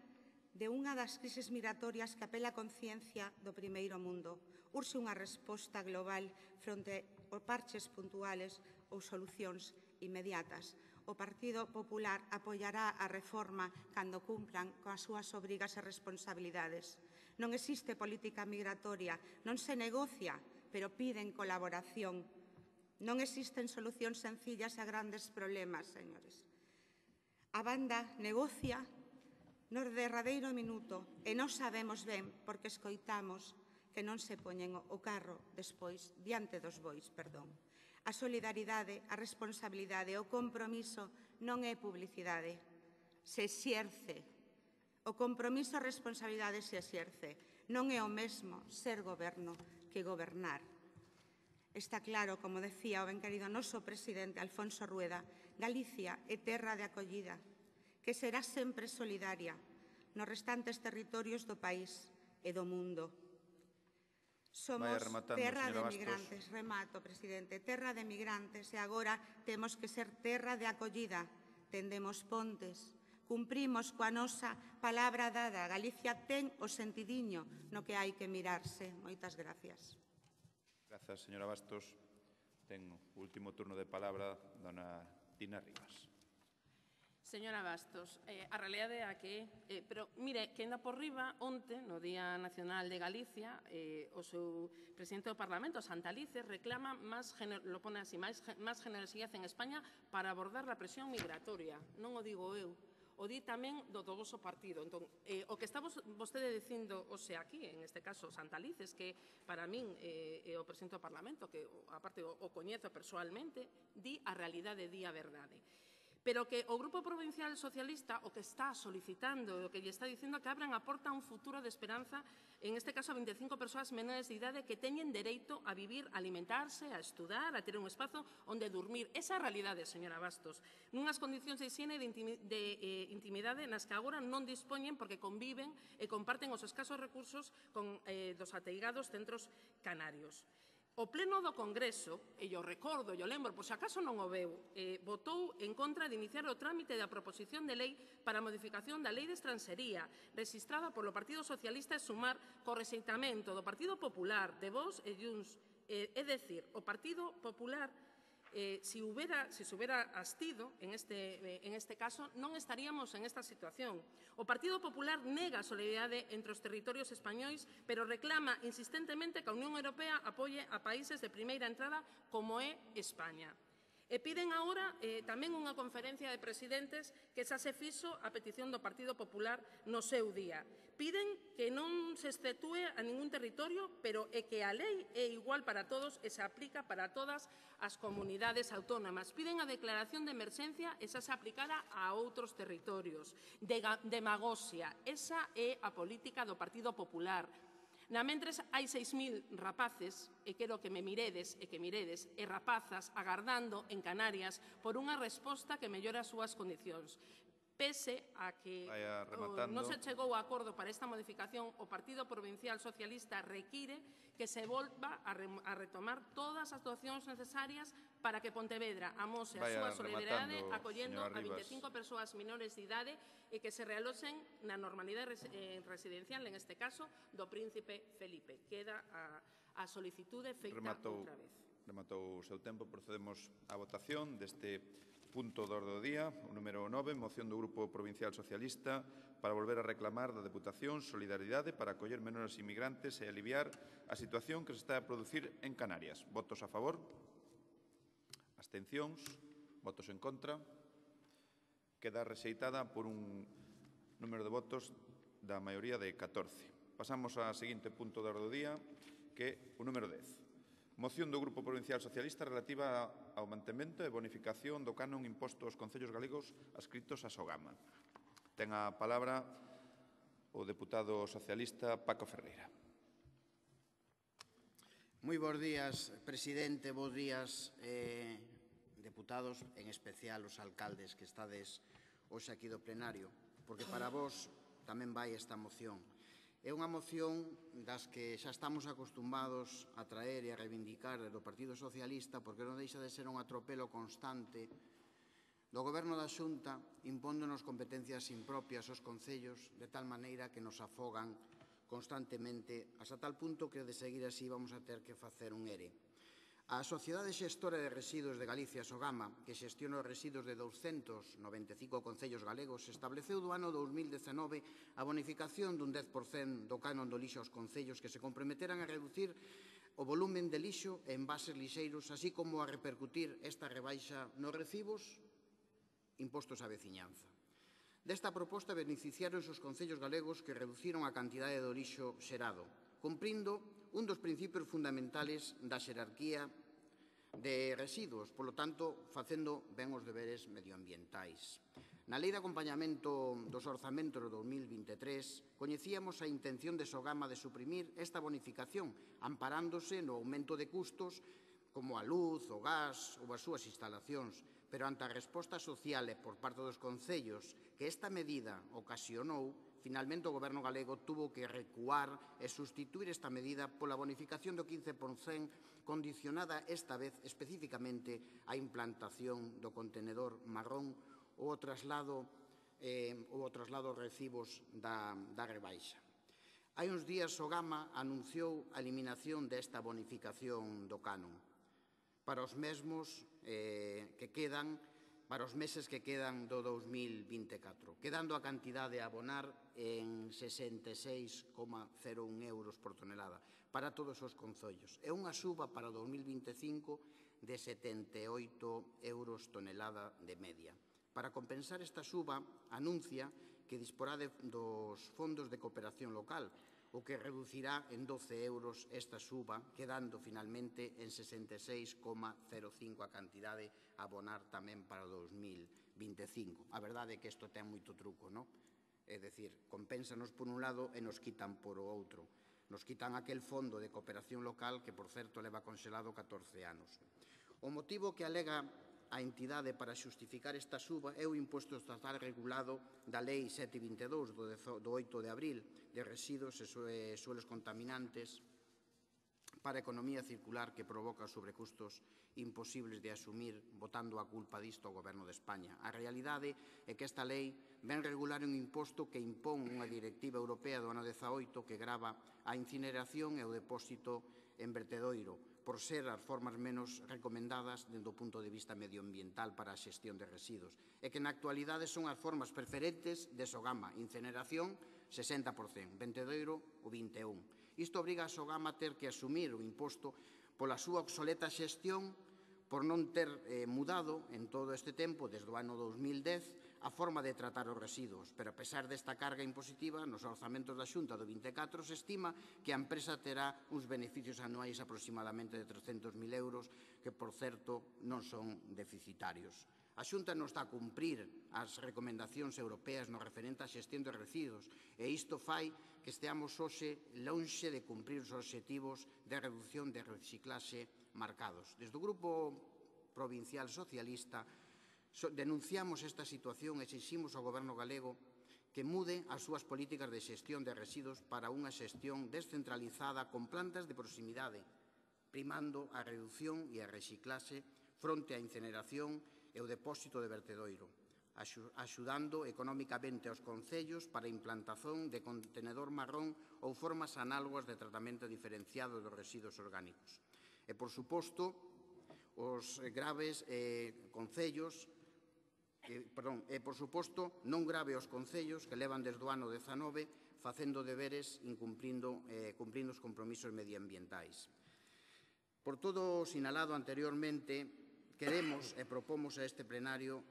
de unha das crises migratorias que apela a conciencia do primeiro mundo. Urxe unha resposta global fronte aos parches puntuales ou solucións inmediatas. O Partido Popular apoiará a reforma cando cumpran coas súas obrigas e responsabilidades. Non existe política migratoria, non se negocia, pero piden colaboración. Non existen solucións sencillas a grandes problemas, señores. A banda negocia no derradeiro minuto e non sabemos ben porque escoitamos que non se poñen o carro despois diante dos bois, perdón. A solidaridade, a responsabilidade, o compromiso non é publicidade, se exerce. O compromiso e a responsabilidade se exerce. Non é o mesmo ser goberno que gobernar. Está claro, como decía o ben querido noso presidente Alfonso Rueda, Galicia é terra de acollida, que será sempre solidaria nos restantes territorios do país e do mundo. Somos terra de migrantes, remato, presidente, terra de migrantes e agora temos que ser terra de acollida. Tendemos pontes, cumprimos coa nosa palabra dada. Galicia ten o sentidiño no que hai que mirarse. Moitas gracias. Grazas, señora Bastos. Ten o último turno de palabra dona Tina Rivas. Señora Bastos, a realidade é a que pero mire, que ainda por riba, onte, no Día Nacional de Galicia, o seu presidente do Parlamento, Santalices, reclama máis generosidade en España para abordar a presión migratoria. Non o digo eu, o di tamén do voso partido. Entón, o que está vostede dicindo hoxe aquí, en este caso Santalices, que para min é o presidente do Parlamento, que aparte o coñezo persoalmente, di a realidade, di a verdade. pero que o Grupo Provincial Socialista o que está solicitando, o que lle está dicindo que abran a porta a un futuro de esperanza, en este caso a 25 persoas menores de idade que teñen dereito a vivir, a alimentarse, a estudar, a ter un espazo onde dormir. Esa é a realidade, señora Bastos, nunhas condicións de higiene e de intimidade nas que agora non dispoñen porque conviven e comparten os escasos recursos con dos ateigados centros canarios. O Pleno do Congreso, e yo recordo, yo lembro, por se acaso non o veu, votou en contra de iniciar o trámite da proposición de lei para a modificación da Lei de Estranxería, registrada polo Partido Socialista e Sumar co rexeitamento do Partido Popular, de Vox e Junts. É dicir, o Partido Popular, se se hubiera abstido en este caso, non estaríamos en esta situación. O Partido Popular nega a solidaridade entre os territorios españois, pero reclama insistentemente que a Unión Europea apoie a países de primeira entrada como é España. E piden agora tamén unha conferencia de presidentes que xa se fixo a petición do Partido Popular no seu día. Piden que non se exceptúe a ningún territorio, pero é que a lei é igual para todos e se aplica para todas as comunidades autónomas. Piden a declaración de emerxencia e xa se aplicara a outros territorios. Demagoxia, esa é a política do Partido Popular. Na mentres hai 6.000 rapaces, e quero que me miredes e rapazas agardando en Canarias por unha resposta que mellore as súas condicións. Pese a que non se chegou a acordo para esta modificación, o Partido Provincial Socialista require que se volva a retomar todas as actuacións necesarias para que Pontevedra amose a súa solidaridade acollendo a 25 persoas menores de idade e que se realoxen na normalidade residencial, en este caso, do Príncipe Felipe. Queda a solicitude feita outra vez. Rematou o seu tempo. Procedemos á votación deste punto do orde do día, o número 9, moción do Grupo Provincial Socialista para volver a reclamar da Deputación solidaridade para acoller menores inmigrantes e aliviar a situación que se está a producir en Canarias. Votos a favor? Abstencións? Votos en contra? Queda rexeitada por un número de votos da maioría de 14. Pasamos ao seguinte punto do orde do día, que é o número 10. Moción do Grupo Provincial Socialista relativa ao mantemento e bonificación do canon imposto aos concellos galegos adscritos a Sogama. Ten a palabra o deputado socialista Paco Ferreira. Moi bons días, presidente, bons días, deputados, en especial os alcaldes que estades hoxe aquí do plenario, porque para vos tamén vai esta moción. É unha moción das que xa estamos acostumbados a traer e a reivindicar do Partido Socialista porque non deixa de ser un atropelo constante do Goberno da Xunta impóndonos competencias impropias aos concellos de tal maneira que nos afogan constantemente hasta tal punto que de seguir así vamos a ter que facer un ERE. A Sociedade Xestora de Residuos de Galicia, Sogama, que xestiona os residuos de 295 concellos galegos, estableceu do ano 2019 a bonificación dun 10% do canon do lixo aos concellos que se comprometeran a reducir o volumen de lixo e envases lixeiros, así como a repercutir esta rebaixa nos recibos impostos á veciñanza. Desta proposta beneficiaron os concellos galegos que reduciron a cantidade do lixo xerado, cumprindo un dos principios fundamentales da xerarquía de residuos, polo tanto, facendo ben os deberes medioambientais. Na Lei de Acompañamento dos Orzamentos do 2023, coñecíamos a intención de Sogama de suprimir esta bonificación, amparándose no aumento de custos como a luz, o gas ou as súas instalacións, pero ante a resposta social e por parte dos concellos que esta medida ocasionou, finalmente o Goberno galego tuvo que recuar e sustituir esta medida pola bonificación do 15% condicionada esta vez especificamente á implantación do contenedor marrón ou ao traslado aos recibos da rebaixa. Hai uns días Sogama anunciou a eliminación desta bonificación do canon para os mesmos que quedan para os meses que quedan do 2024, quedando a cantidade a abonar en 66,01 euros por tonelada para todos os concellos. É unha suba para o 2025 de 78 euros tonelada de media. Para compensar esta suba, anuncia que disporá dos fondos de cooperación local, o que reducirá en 12 euros esta suba, quedando finalmente en 66,05 a cantidade a abonar tamén para o 2025. A verdade é que isto ten moito truco, non? É dicir, compénsanos por un lado e nos quitan por o outro. Nos quitan aquel fondo de cooperación local que, por certo, leva conxelado 14 anos. O motivo que alega a entidade para xustificar esta suba é o imposto estatal regulado da Lei 722 do 8 de abril de residuos e suelos contaminantes para a economía circular que provoca sobrecustos imposibles de asumir, botando a culpa disto ao Goberno de España. A realidade é que esta lei ven regular un imposto que impón unha directiva europea do ano 18 que grava a incineración e o depósito en vertedoiro, por ser as formas menos recomendadas dende o punto de vista medioambiental para a xestión de residuos, e que na actualidade son as formas preferentes de Sogama: incineración, 60%, vertedoiro, o 21%. Isto obriga a Sogama a ter que asumir o imposto pola súa obsoleta xestión, por non ter mudado en todo este tempo, desde o ano 2010, a forma de tratar os residuos. Pero a pesar desta carga impositiva, nos orzamentos da Xunta do 24 se estima que a empresa terá uns beneficios anuais aproximadamente de 300.000 euros, que, por certo, non son deficitarios. A Xunta non está a cumprir as recomendacións europeas no referente á xestión de residuos, e isto fai que esteamos hoxe lonxe de cumprir os obxectivos de reducción de reciclaxe marcados. Desde o Grupo Provincial Socialista denunciamos esta situación e exiximos ao Goberno galego que mude as súas políticas de xestión de residuos para unha xestión descentralizada con plantas de proximidade, primando a reducción e a reciclaxe fronte á incineración e o depósito de vertedoiro, axudando económicamente aos concellos para a implantación de contenedor marrón ou formas análogas de tratamento diferenciado dos residuos orgánicos. E, por suposto, os graves concellos, por suposto, non grave os concellos que levan desde o ano 19 facendo deberes cumprindo os compromisos medioambientais. Por todo o sinalado anteriormente, queremos e propomos a este plenario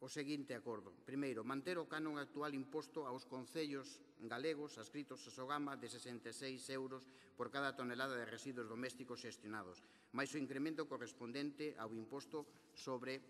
o seguinte acordo. Primeiro, manter o canon actual imposto aos concellos galegos adscritos a Sogama de 66 euros por cada tonelada de residuos domésticos xestionados, máis o incremento correspondente ao imposto sobre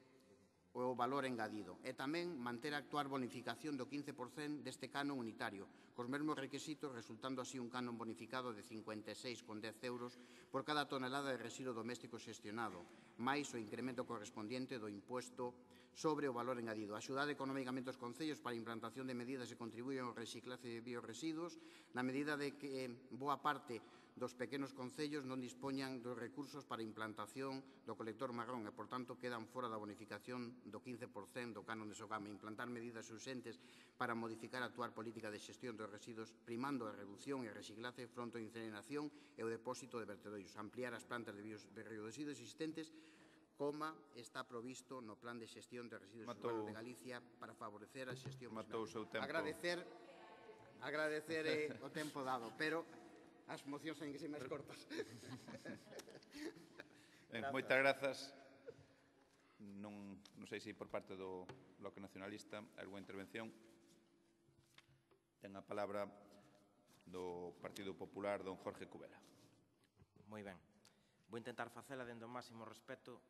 o valor engadido. E tamén manter a actual bonificación do 15% deste canon unitario, cos mesmos requisitos, resultando así un canon bonificado de 56,10 euros por cada tonelada de residuo doméstico xestionado, máis o incremento correspondiente do imposto sobre o valor engadido. Axudar económicamente os concellos para a implantación de medidas que contribuyen ao reciclaje de bioresiduos, na medida de que boa parte dos pequenos concellos non dispoñan dos recursos para a implantación do colector marrón e, por tanto, quedan fora da bonificación do 15% do canon de Sogama. Implantar medidas urxentes para modificar a actual política de xestión dos residuos, primando a reducción e reciclaje fronte á incineración e o depósito de vertedoiros. Ampliar as plantas de bioresiduos existentes, como está provisto no Plan de Xestión de Residuos Urbanos de Galicia para favorecer a xestión. Agradecer o tempo dado, pero as mocións ten que ser máis cortas. Moitas grazas. Non sei se por parte do Bloque Nacionalista algunha intervención. Ten a palabra do Partido Popular, don Jorge Cubela. Moi ben. Vou intentar facela dentro do máximo respeto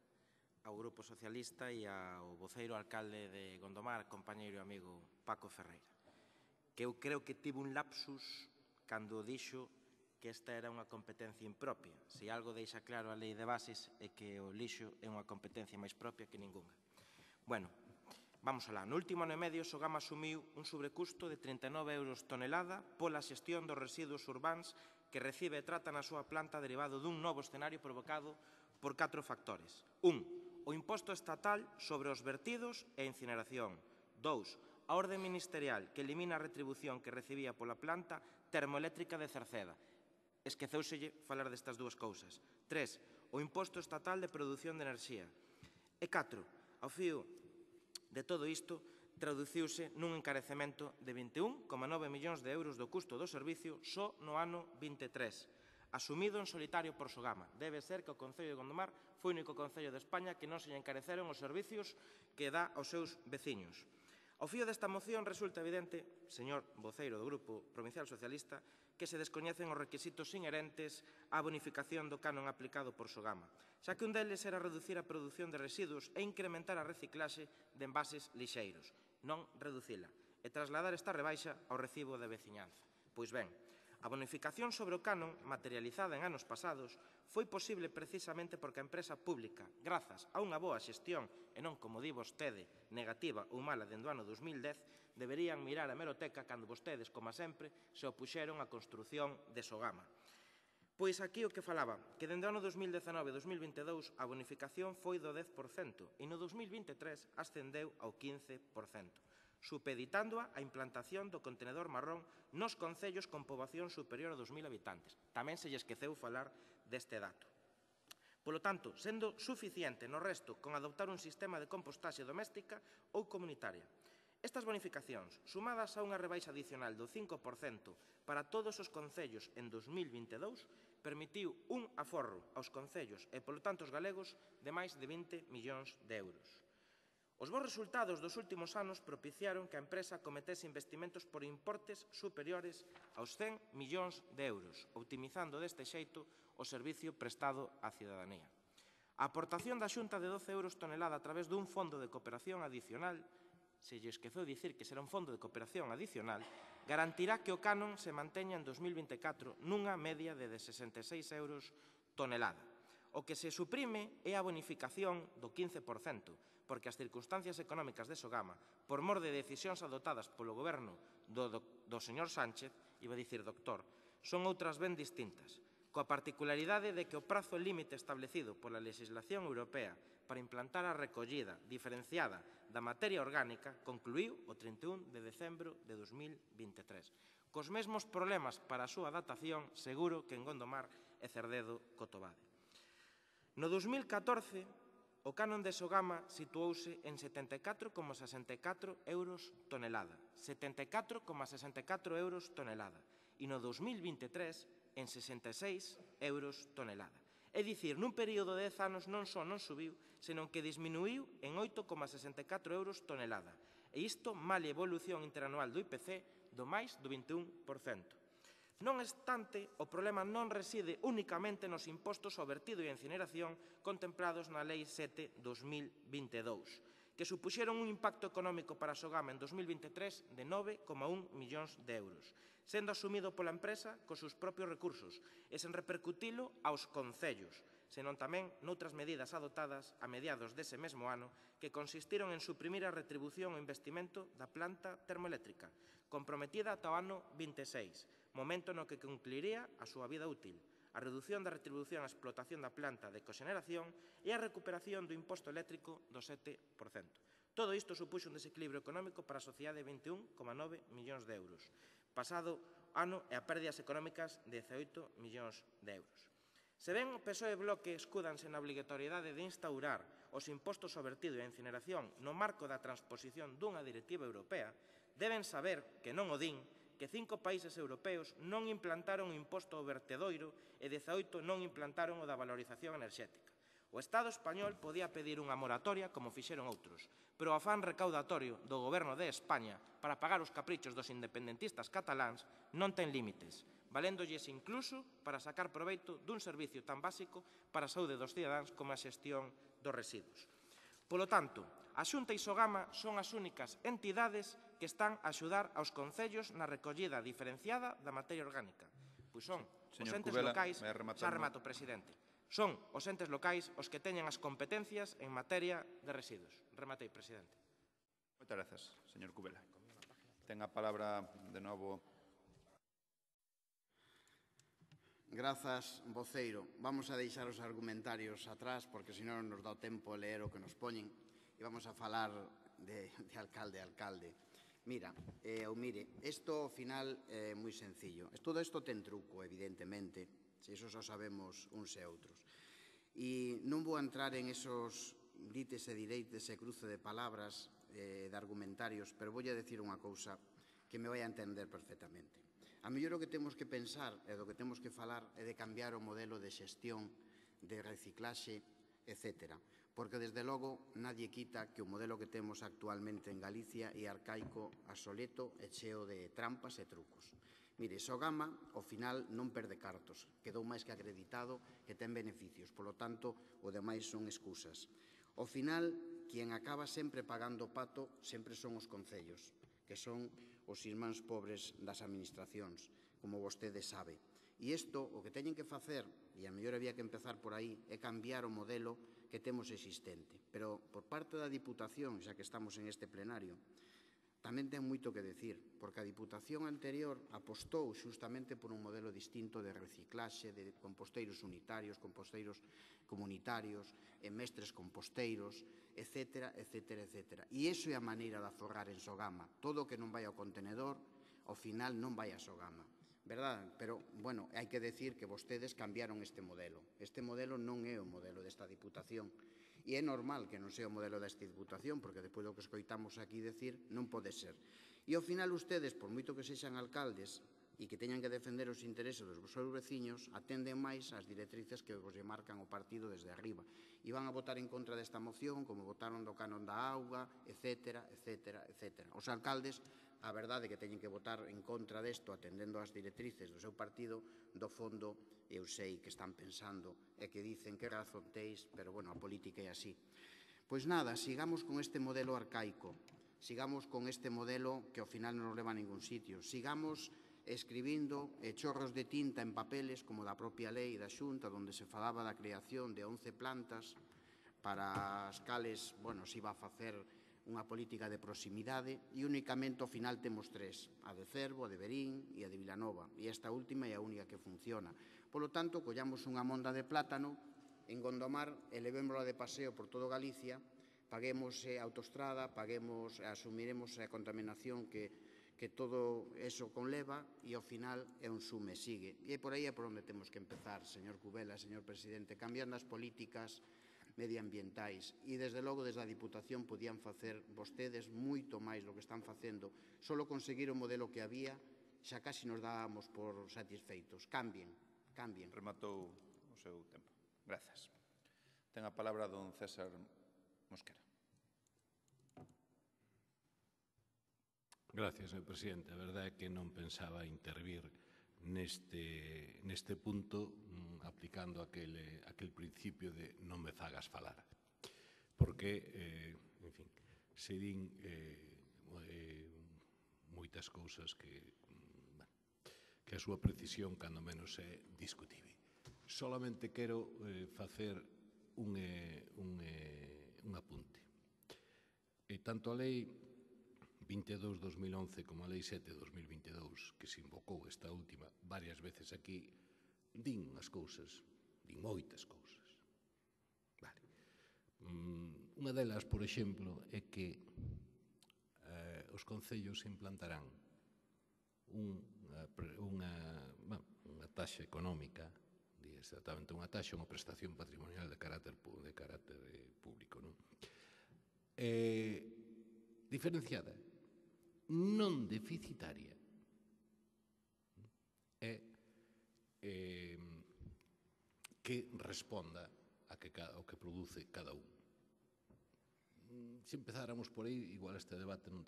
ao Grupo Socialista e ao voceiro alcalde de Gondomar, compañeiro e amigo Paco Ferreira, que eu creo que tivo un lapsus cando dixo que esta era unha competencia impropia. Se algo deixa claro a lei de bases é que o lixo é unha competencia máis propia que ningunha. Bueno, vamos alá. No último ano e medio, Sogama asumiu un sobrecusto de 39 euros tonelada pola xestión dos residuos urbáns que recibe e trata na súa planta derivado dun novo escenario provocado por 4 factores. 1. O imposto estatal sobre os vertidos e incineración. 2. A orde ministerial que elimina a retribución que recibía pola planta termoeléctrica de Cerceda. Esqueceuselle falar destas dúas cousas. 3. O imposto estatal de produción de enerxía. E 4. Ao fío de todo isto, traduciuse nun encarecemento de 21,9 millóns de euros do custo do servicio só no ano 23, asumido en solitario por Sogama. Debe ser que o Concello de Gondomar foi o único concello de España que non se lle encareceron os servicios que dá aos seus veciños. Ao fío desta moción resulta evidente, señor voceiro do Grupo Provincial Socialista, que se descoñecen os requisitos inherentes á bonificación do canon aplicado por Sogama, xa que un deles era reducir a produción de residuos e incrementar a reciclaxe de envases lixeiros, non reducila, e trasladar esta rebaixa ao recibo de veciñanza. Pois ben, a bonificación sobre o canon, materializada en anos pasados, foi posible precisamente porque a empresa pública, grazas a unha boa xestión e non, como di vostede, negativa ou mala dende o ano 2010, deberían mirar a hemeroteca cando vostedes, como sempre, se opuxeron á construción de Sogama. Pois aquí o que falaba, que dende o ano 2019 e 2022 a bonificación foi do 10% e no 2023 ascendeu ao 15%. Supeditándoa a implantación do contenedor marrón nos concellos con poboación superior a 2.000 habitantes. Tamén se lle esqueceu falar deste dato. Polo tanto, sendo suficiente no resto con adoptar un sistema de compostaxe doméstica ou comunitaria. Estas bonificacións, sumadas a unha rebaixa adicional do 5% para todos os concellos en 2022, permitiu un aforro aos concellos e, polo tanto, aos galegos de máis de 20 millóns de euros. Os bons resultados dos últimos anos propiciaron que a empresa cometese investimentos por importes superiores aos 100 millóns de euros, optimizando deste xeito o servicio prestado á cidadanía. A aportación da Xunta de 12 euros tonelada a través dun fondo de cooperación adicional, se lle esqueceu dicir que será un fondo de cooperación adicional, garantirá que o canon se manteña en 2024 nunha media de 66 euros tonelada. O que se suprime é a bonificación do 15%, porque as circunstancias económicas de Sogama, por mor de decisións adoptadas polo goberno do señor Sánchez, iba a dicir doctor, son outras ben distintas, coa particularidade de que o prazo límite establecido pola legislación europea para implantar a recollida diferenciada da materia orgánica concluíu o 31 de decembro de 2023. Cos mesmos problemas para a súa datación, seguro que en Gondomar e Cerdedo Cotobade. No 2014, o canon de Sogama situouse en 74,64 euros tonelada. 74,64 euros tonelada. E no 2023, en 66 euros tonelada. É dicir, nun período de 10 anos non só non subiu, senón que disminuiu en 8,64 euros tonelada. E isto male a evolución interanual do IPC do máis do 21%. Non obstante, o problema non reside únicamente nos impostos ao vertido e a incineración contemplados na Lei 7/2022, que supuxeron un impacto económico para Sogama en 2023 de 9,1 millóns de euros, sendo asumido pola empresa cos seus propios recursos e sen repercutilo aos concellos, senón tamén noutras medidas adoptadas a mediados dese mesmo ano que consistiron en suprimir a retribución ao investimento da planta termoeléctrica, comprometida ata o ano 26, momento no que concluiría a súa vida útil, a redución da retribución á explotación da planta de coxeneración e a recuperación do imposto eléctrico do 7%. Todo isto supuxo un desequilibrio económico para a sociedade de 21,9 millóns de euros. Pasado ano e a pérdidas económicas de 18 millóns de euros. Se ben o PSOE e Bloque escúdanse na obrigatoriedade de instaurar os impostos ao vertido e a incineración no marco da transposición dunha directiva europea, deben saber que non o din, que 5 países europeos non implantaron o imposto ao vertedoiro e 18 non implantaron o da valorización enerxética. O Estado español podía pedir unha moratoria como fixeron outros, pero o afán recaudatorio do Goberno de España para pagar os caprichos dos independentistas cataláns non ten límites, valéndolles incluso para sacar proveito dun servicio tan básico para a saúde dos cidadáns como a xestión dos residuos. Polo tanto, a Xunta e Sogama son as únicas entidades que están a axudar aos concellos na recollida diferenciada da materia orgánica. Pois son os entes locais, xa remato, presidente, son os entes locais os que teñen as competencias en materia de residuos. Rematei, presidente. Moitas grazas, señor Cubela. Ten a palabra de novo. Grazas, voceiro. Vamos a deixar os argumentarios atrás, porque senón nos dá o tempo a ler o que nos poñen e vamos a falar de alcalde a alcalde. Mira, isto ao final é moi sencillo. Todo isto ten truco, evidentemente, se iso só sabemos uns e outros. E non vou entrar en esos dites e direites e cruce de palabras, de argumentarios, pero voulle decir unha cousa que me vai a entender perfectamente. A mellor o que temos que pensar e do que temos que falar é de cambiar o modelo de xestión, de reciclaxe, etc. Porque, desde logo, nadie quita que o modelo que temos actualmente en Galicia é arcaico, obsoleto e cheo de trampas e trucos. Mire, Sogama, ao final, non perde cartos. Quedou máis que acreditado que ten beneficios. Polo tanto, o demais son excusas. Ao final, quen acaba sempre pagando o pato sempre son os concellos, que son os irmáns pobres das administracións, como vostede sabe. E isto, o que teñen que facer, e a mellor había que empezar por aí, é cambiar o modelo que temos existente. Pero, por parte da Diputación, xa que estamos en este plenario, tamén ten moito que decir, porque a Diputación anterior apostou xustamente por un modelo distinto de reciclaxe, de composteiros unitarios, composteiros comunitarios, mestres composteiros, etc., etc., etc. E iso é a maneira de aforrar en Sogama. Todo o que non vai ao contenedor, ao final non vai a Sogama. Verdad? Pero, bueno, hai que decir que vostedes cambiaron este modelo. Este modelo non é o modelo desta Diputación. E é normal que non sea o modelo desta Diputación, porque despois do que escoitamos aquí decir, non pode ser. E ao final ustedes, por moito que sexan alcaldes e que teñan que defender os intereses dos seus veciños, atenden máis as directrices que vos marcan o partido desde arriba. E van a votar en contra desta moción, como votaron do canon da auga, etc., etc., etc. Os alcaldes, a verdade é que teñen que votar en contra desto, atendendo ás directrices do seu partido, do fondo, eu sei que están pensando e que dicen que razón teis, pero, bueno, a política é así. Pois nada, sigamos con este modelo arcaico, sigamos con este modelo que ao final non nos leva a ningún sitio, sigamos escribindo chorros de tinta en papeles, como da propia lei da Xunta, onde se falaba da creación de 11 plantas para as cales, bueno, se iba a facer unha política de proximidade e únicamente ao final temos 3, a de Cervo, a de Verín e a de Vilanova, e esta última é a única que funciona. Polo tanto, collamos unha monda de plátano en Gondomar e levémola de paseo por todo Galicia, paguemos a autostrada, asumiremos a contaminación que todo eso conleva e ao final é un sume, sigue. E por aí é por onde temos que empezar, señor Cubela, señor presidente, cambiando as políticas medioambientais e, desde logo, desde a Diputación podían facer vostedes moito máis do que están facendo. Solo conseguir o modelo que había xa casi nos dábamos por satisfeitos. Cambien, cambien. Rematou o seu tempo. Grazas. Ten a palabra don César Mosquera. Gracias, señor presidente. A verdade é que non pensaba intervir neste punto aplicando aquel principio de non me fagas falar. Porque, en fin, se din moitas cousas que a súa precisión, cando menos, é discutible. Solamente quero facer un apunte. Tanto a lei 22-2011 como a lei 7-2022, que se invocou esta última varias veces aquí, din as cousas, din moitas cousas. Vale. Unha delas, por exemplo, é que os concellos implantarán unha taxa económica, exactamente unha taxa, unha prestación patrimonial de carácter público, non? Diferenciada, non deficitaria, é que responda ao que produce cada un. Se empezáramos por aí, igual este debate non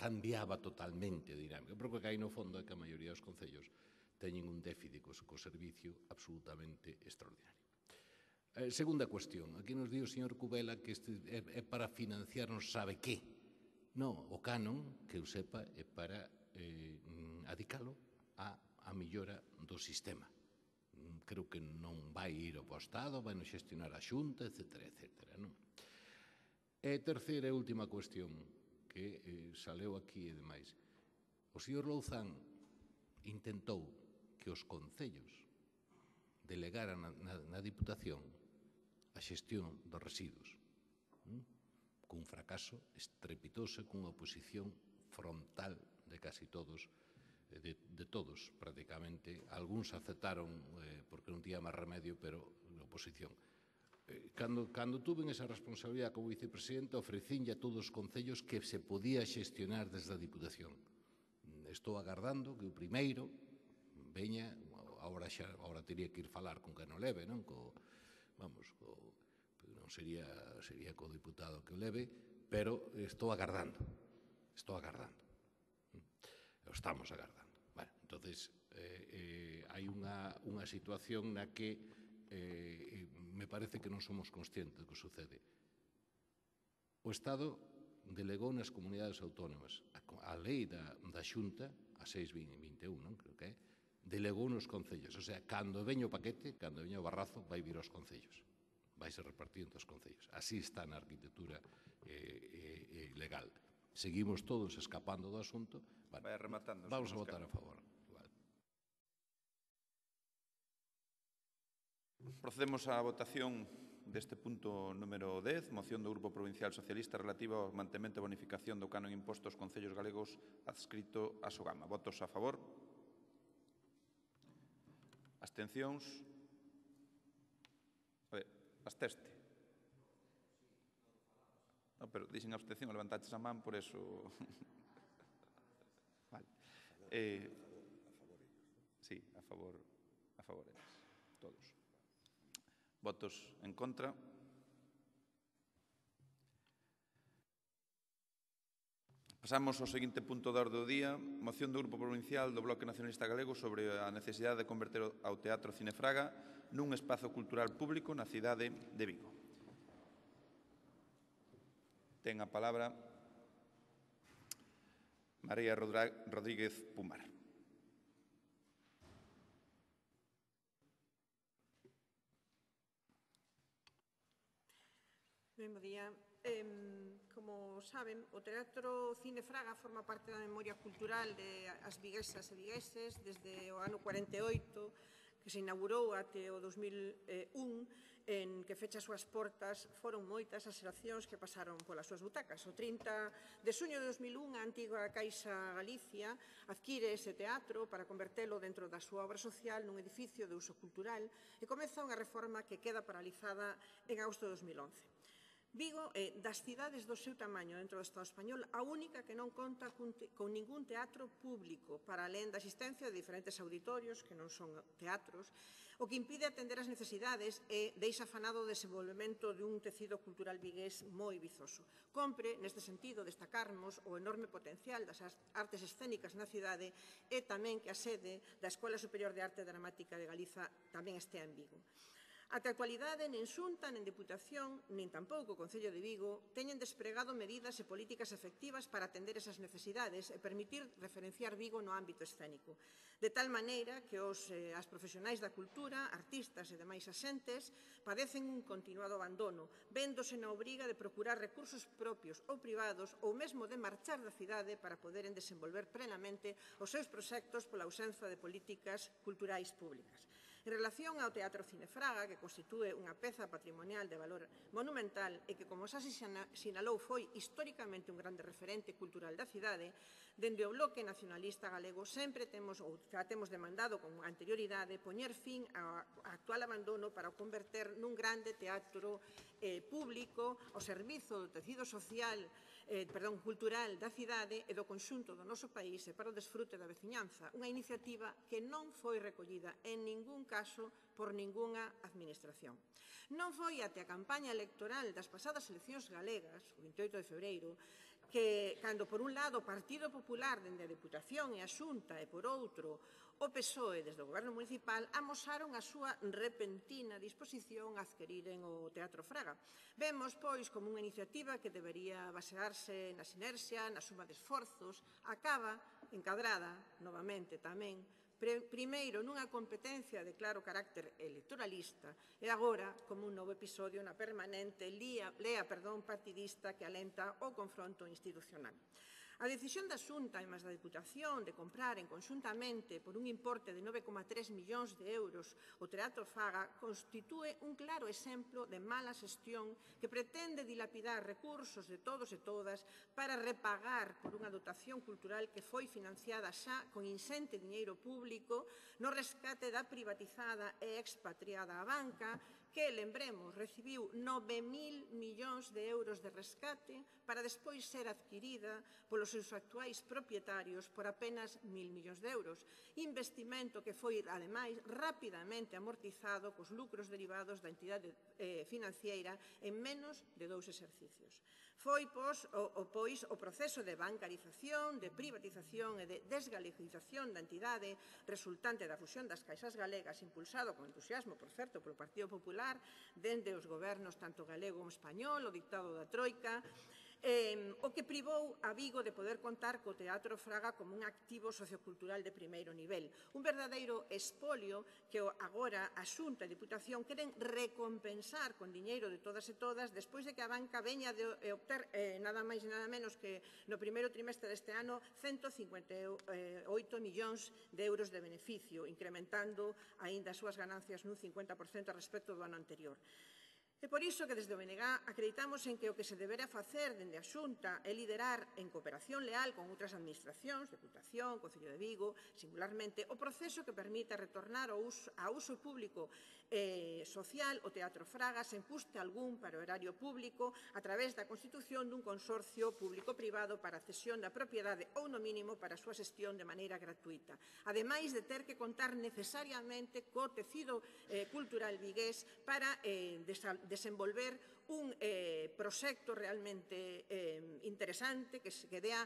cambiaba totalmente a dinámica, porque o que hai no fondo é que a maioría dos concellos teñen un déficit co servicio absolutamente extraordinario. Segunda cuestión, aquí nos di o señor Cubela que este é para financiar non sabe que. Non, o canon, que eu sepa, é para adicalo á mellora do sistema. Creo que non vai ir ao Estado, vai non xestionar a Xunta, etc., etc. E terceira e última cuestión, que saleu aquí e demais. O señor Louzán intentou que os concellos delegaran na Diputación a xestión dos residuos, cun fracaso estrepitoso, cunha oposición frontal de casi todos, de todos prácticamente. Algúns aceptaron porque non tiña máis remedio, pero na oposición. Cando tuve esa responsabilidade como vicepresidente, ofrecínlle a todos os concellos que se podía xestionar desde a Diputación. Estou agardando que o primeiro veña, agora teria que ir falar con que non leve, non? Non sería co diputado que o leve, pero estou agardando. Estamos agardando. Bueno, entonces hai unha situación na que me parece que non somos conscientes do que sucede. O Estado delegou nas comunidades autónomas a lei da Xunta, a 621, non? Creo que é, delegou nos concellos. O sea, cando veña o paquete, cando veña o barrazo, vai vir aos concellos. Vai ser repartido entre os concellos. Así está na arquitectura legal. Seguimos todos escapando do asunto. Vai rematando. Vamos a votar a favor. Procedemos á votación deste punto número 10, moción do Grupo Provincial Socialista relativa ao mantemento e bonificación do canon imposto aos concellos galegos adscrito a Sogama. Votos a favor? Abstencións? Absteste? No, pero dixen abstención, levantaches a man, por eso... Vale. Sí, a favor eles, todos. Votos en contra. Pasamos ao seguinte punto da orde do día, moción do Grupo Provincial do Bloque Nacionalista Galego sobre a necesidade de converter ao Teatro Cinefraga nun espazo cultural público na cidade de Vigo. Ten a palabra María Rodríguez Pumar. Ben, bo día. Como saben, o Teatro Cinefraga forma parte da memoria cultural das viguesas e vigueses desde o ano 48, que se inaugurou até o 2001, en que fecha as súas portas. Foron moitas as xeracións que pasaron polas súas butacas. O 30 de xuño de 2001, a antiga Caixa Galicia adquire ese teatro para convertelo dentro da súa obra social nun edificio de uso cultural e comeza unha reforma que queda paralizada en agosto de 2011. Vigo é, das cidades do seu tamaño dentro do Estado español, a única que non conta con ningún teatro público, para alén da existencia de diferentes auditorios, que non son teatros, o que impide atender as necesidades e deixa afanado o desenvolvemento dun tecido cultural vigués moi vizoso. Compre, neste sentido, destacarmos o enorme potencial das artes escénicas na cidade e tamén que a sede da Escola Superior de Arte Dramática de Galiza tamén estea en Vigo. Ata a actualidade, nin Xunta, nin Deputación, nin tampouco o Concello de Vigo teñen despregado medidas e políticas efectivas para atender esas necesidades e permitir referenciar Vigo no ámbito escénico. De tal maneira que as profesionais da cultura, artistas e demais axentes padecen un continuado abandono, véndose na obriga de procurar recursos propios ou privados ou mesmo de marchar da cidade para poderen desenvolver plenamente os seus proxectos pola ausencia de políticas culturais públicas. En relación ao Teatro Cinefraga, que constitúe unha peza patrimonial de valor monumental e que, como xa se sinalou, foi históricamente un grande referente cultural da cidade, dende o Bloque Nacionalista Galego sempre temos demandado con anterioridade poñer fin ao actual abandono para o converter nun grande teatro público ao servizo do tecido social cultural da cidade e do conxunto do noso país e para o desfrute da veciñanza, unha iniciativa que non foi recollida en ningún caso por ningunha administración. Non foi até a campaña electoral das pasadas eleccións galegas, o 28 de febreiro, que, cando por un lado o Partido Popular dende a Deputación e a Xunta e por outro o PSOE desde o Goberno Municipal amosaron a súa repentina disposición a adquiriren o Teatro Fraga. Vemos, pois, como unha iniciativa que debería basearse na sinerxia, na suma de esforzos, acaba encadrada, novamente tamén, primeiro nunha competencia de claro carácter electoralista e agora como un novo episodio na permanente lea partidista que alenta o confronto institucional. A decisión da Xunta e máis da Deputación de compraren conxuntamente por un importe de 9,3 millóns de euros o Teatro Fraga constitúe un claro exemplo de mala xestión que pretende dilapidar recursos de todos e todas para repagar por unha dotación cultural que foi financiada xa con insente diñeiro público no rescate da privatizada e expatriada a banca que, lembremos, recibiu 9.000 millóns de euros de rescate para despois ser adquirida polos seus actuais propietarios por apenas 1.000 millóns de euros. Investimento que foi, ademais, rapidamente amortizado cos lucros derivados da entidade financiera en menos de 2 exercicios. foi pois o proceso de bancarización, de privatización e de desgalegización da entidade resultante da fusión das caixas galegas, impulsado con entusiasmo, por certo, polo Partido Popular, dende os gobernos tanto galego como español, o dictado da Troika, o que privou a Vigo de poder contar co Teatro Fraga como un activo sociocultural de primeiro nivel. Un verdadeiro espolio que agora a Xunta e a Diputación queren recompensar con diñeiro de todas e todas despois de que a banca veña de obter nada máis e nada menos que no primeiro trimestre deste ano 158 millóns de euros de beneficio, incrementando aínda as súas ganancias nun 50% respecto do ano anterior. É por iso que desde o BNG acreditamos en que o que se deberá facer dende a Xunta é liderar en cooperación leal con outras administracións, Deputación, Concello de Vigo, singularmente, o proceso que permita retornar a uso público social o Teatro Fraga sen custe algún para o erario público a través da constitución dun consorcio público-privado para a cesión da propiedade ou, no mínimo, para a súa xestión de maneira gratuita. Ademais de ter que contar necesariamente co tecido cultural vigués para desenvolver un proxecto realmente interesante que dea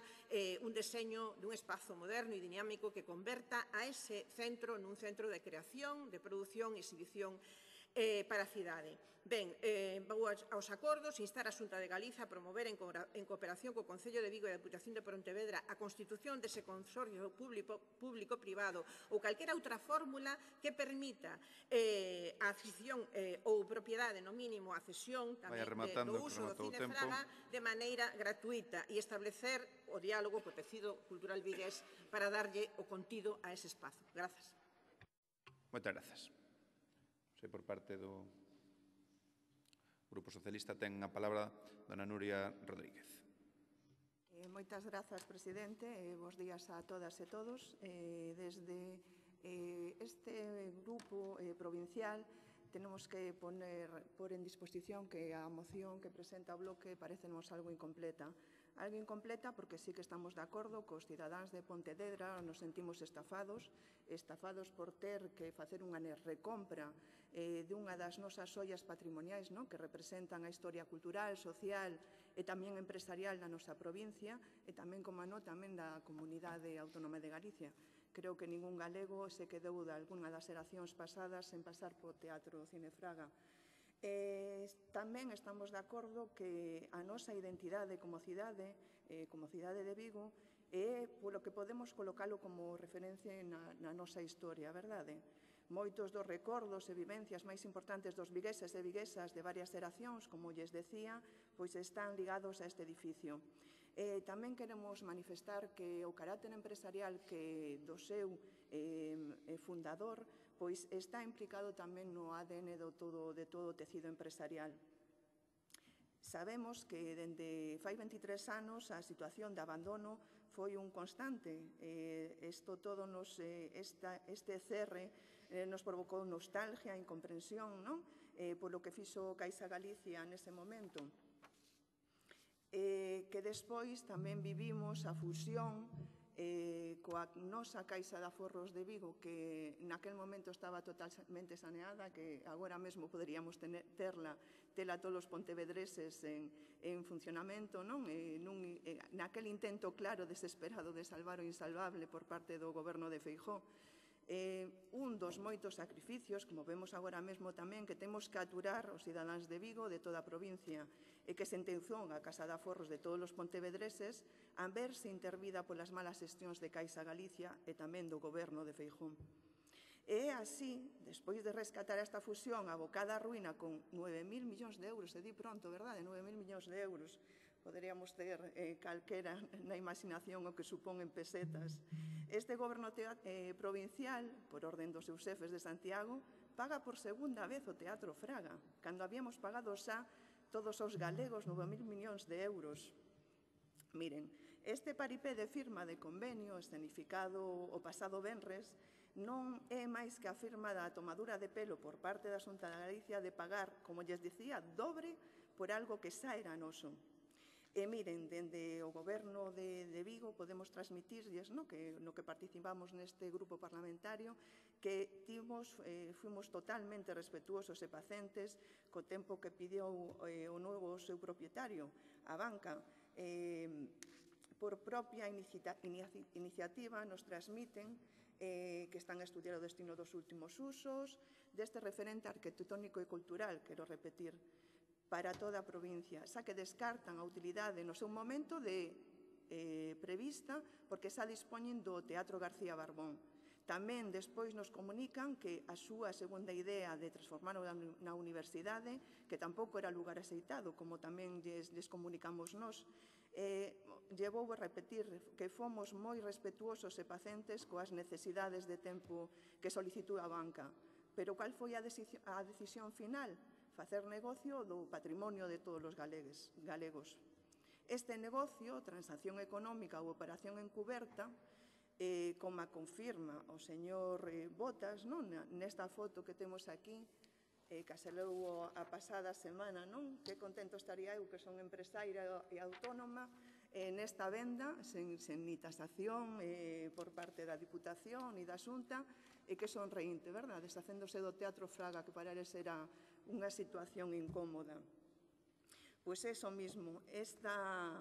un deseño dun espazo moderno e dinámico que converta a ese centro nun centro de creación, de produción e exhibición para a cidade. Ben, vou aos acordos, instar a Xunta de Galiza a promover en cooperación co Concello de Vigo e a Deputación de Pontevedra a constitución dese consorcio público-privado ou calquera outra fórmula que permita a cesión ou propiedade, no mínimo, a cesión tamén do uso do Cine Fraga de maneira gratuita e establecer o diálogo co tecido cultural vigués para darlle o contido a ese espazo. Grazas. Moitas grazas. Sei por parte do Grupo Socialista ten a palabra dona Nuria Rodríguez. Moitas grazas, presidente. Bos días a todas e todos. Desde este grupo provincial tenemos que pôr en disposición que a moción que presenta o bloque parécenos algo incompleta. Algo incompleta porque sí que estamos de acordo cos cidadáns de Pontevedra, nos sentimos estafados por ter que facer unha recompra dunha das nosas ollas patrimoniais que representan a historia cultural, social e tamén empresarial da nosa provincia e tamén, como non, tamén da Comunidade Autónoma de Galicia. Creo que ningún galego se quedou de algunha das xeracións pasadas sen pasar po Teatro Cine Fraga. Tamén estamos de acordo que a nosa identidade como cidade de Vigo é polo que podemos colocalo como referencia na nosa historia, verdade? Moitos dos recordos e vivencias máis importantes dos vigueses e viguesas de varias xeracións, como lles decía, pois están ligados a este edificio. Tamén queremos manifestar que o carácter empresarial que do seu fundador pois está implicado tamén no ADN de todo o tecido empresarial. Sabemos que dende fai 23 anos a situación de abandono foi un constante. Este cerre nos provocou nostalgia, incomprensión, polo que fixo Caixa Galicia nese momento. Que despois tamén vivimos a fusión coa nosa Caixa de Aforros de Vigo, que naquel momento estaba totalmente saneada, que agora mesmo poderíamos tela todos os pontevedreses en funcionamento, naquel intento claro, desesperado de salvar o insalvable por parte do goberno de Feijóo. Un dos moitos sacrificios, como vemos agora mesmo tamén, que temos que aturar os cidadáns de Vigo, de toda a provincia, e que sentenciou a Casa de Aforros de todos os pontevedreses a verse intervida polas malas xestións de Caixa Galicia e tamén do goberno de Feijóo. E así, despois de rescatar esta fusión abocada á ruína con 9.000 millóns de euros, se di pronto, verdade? 9.000 millóns de euros. Poderíamos ter calquera na imaginación o que supón en pesetas. Este goberno provincial, por orden dos seus xefes de Santiago, paga por segunda vez o Teatro Fraga, cando habíamos pagado xa todos os galegos 9.000 millóns de euros. Miren, este paripé de firma de convenio escenificado o pasado venres non é máis que a firma da tomadura de pelo por parte da Xunta de Galicia de pagar, como lles dicía, dobre por algo que xa era noso. E miren, dende o Goberno de Vigo podemos transmitirlles no que participamos neste grupo parlamentario que fuimos totalmente respetuosos e pacientes co tempo que pideu o novo seu propietario, a banca. Por propia iniciativa nos transmiten que están a estudiar o destino dos últimos usos deste referente arquitectónico e cultural, quero repetir, para toda a provincia, xa que descartan a utilidade no seu momento prevista porque xa dispoñen do Teatro García Barbón. Tamén despois nos comunican que a súa segunda idea de transformarlo na universidade, que tampouco era lugar aceitado, como tamén lles comunicamos nós, llevou a repetir que fomos moi respetuosos e pacientes coas necesidades de tempo que solicitou a banca. Pero cal foi a decisión final? Facer negocio do patrimonio de todos os galegos. Este negocio, transacción económica ou operación encuberta, como confirma o señor Botas, nesta foto que temos aquí, que se leu a pasada semana, que contento estaría eu, que son empresaria e autónoma, nesta venda, sen ni tasación por parte da Diputación e da Xunta, e que sonreínte, verdad? Deshacéndose do Teatro Fraga, que para eles era unha situación incómoda. Pois eso mismo, esta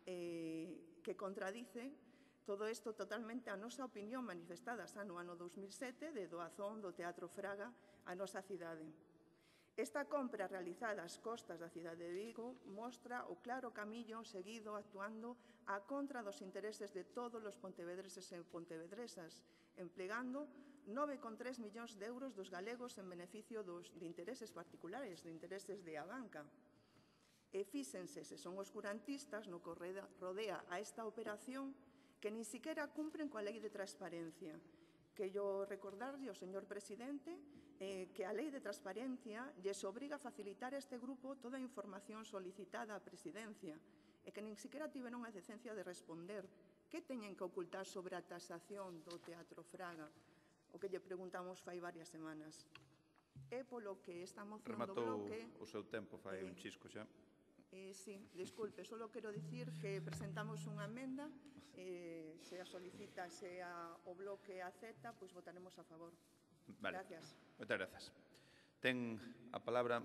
que contradice todo isto totalmente a nosa opinión manifestada xa no ano 2007 de doazón do Teatro Fraga á nosa cidade. Esta compra realizada ás costas da cidade de Vigo mostra o claro camiño seguido actuando a contra dos intereses de todos os pontevedreses e pontevedresas, emplegando 9,3 millóns de euros dos galegos en beneficio de intereses particulares, de intereses de a banca. E fíxense se son oscurantistas no que rodea a esta operación que nin siquiera cumpren coa lei de transparencia. Que yo recordarlle ao señor presidente que a lei de transparencia lles obriga a facilitar a este grupo toda a información solicitada á presidencia e que nin siquiera tiveron a decencia de responder que teñen que ocultar sobre a tasación do Teatro Fraga, o que lle preguntamos fai varias semanas. É polo que esta moción do bloque... Rematou o seu tempo, fai un chisco xa. Sí, disculpe, só quero dicir que presentamos unha emenda, se a solicita, se o bloque acepta, pois votaremos a favor. Gracias. Moitas grazas. Ten a palabra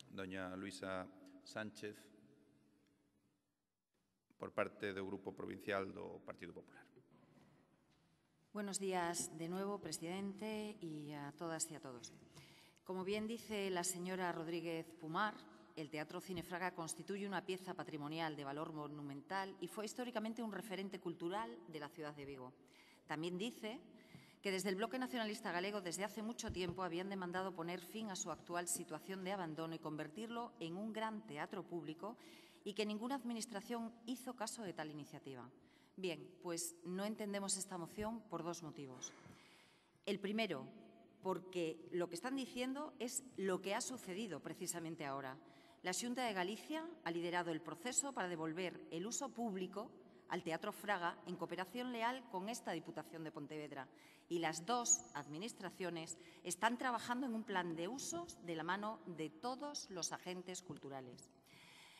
doña Luisa Sánchez por parte do Grupo Provincial do Partido Popular. Buenos días de nuevo, presidente, y a todas y a todos. Como bien dice la señora Rodríguez Pumar, el Teatro Cine Fraga constituye una pieza patrimonial de valor monumental y fue históricamente un referente cultural de la ciudad de Vigo. También dice que desde el Bloque Nacionalista Galego desde hace mucho tiempo habían demandado poner fin a su actual situación de abandono y convertirlo en un gran teatro público y que ninguna administración hizo caso de tal iniciativa. Bien, pues no entendemos esta moción por dos motivos. El primero, porque lo que están diciendo es lo que ha sucedido precisamente ahora. La Xunta de Galicia ha liderado el proceso para devolver el uso público al Teatro Fraga en cooperación leal con esta Diputación de Pontevedra y las dos administraciones están trabajando en un plan de usos de la mano de todos los agentes culturales.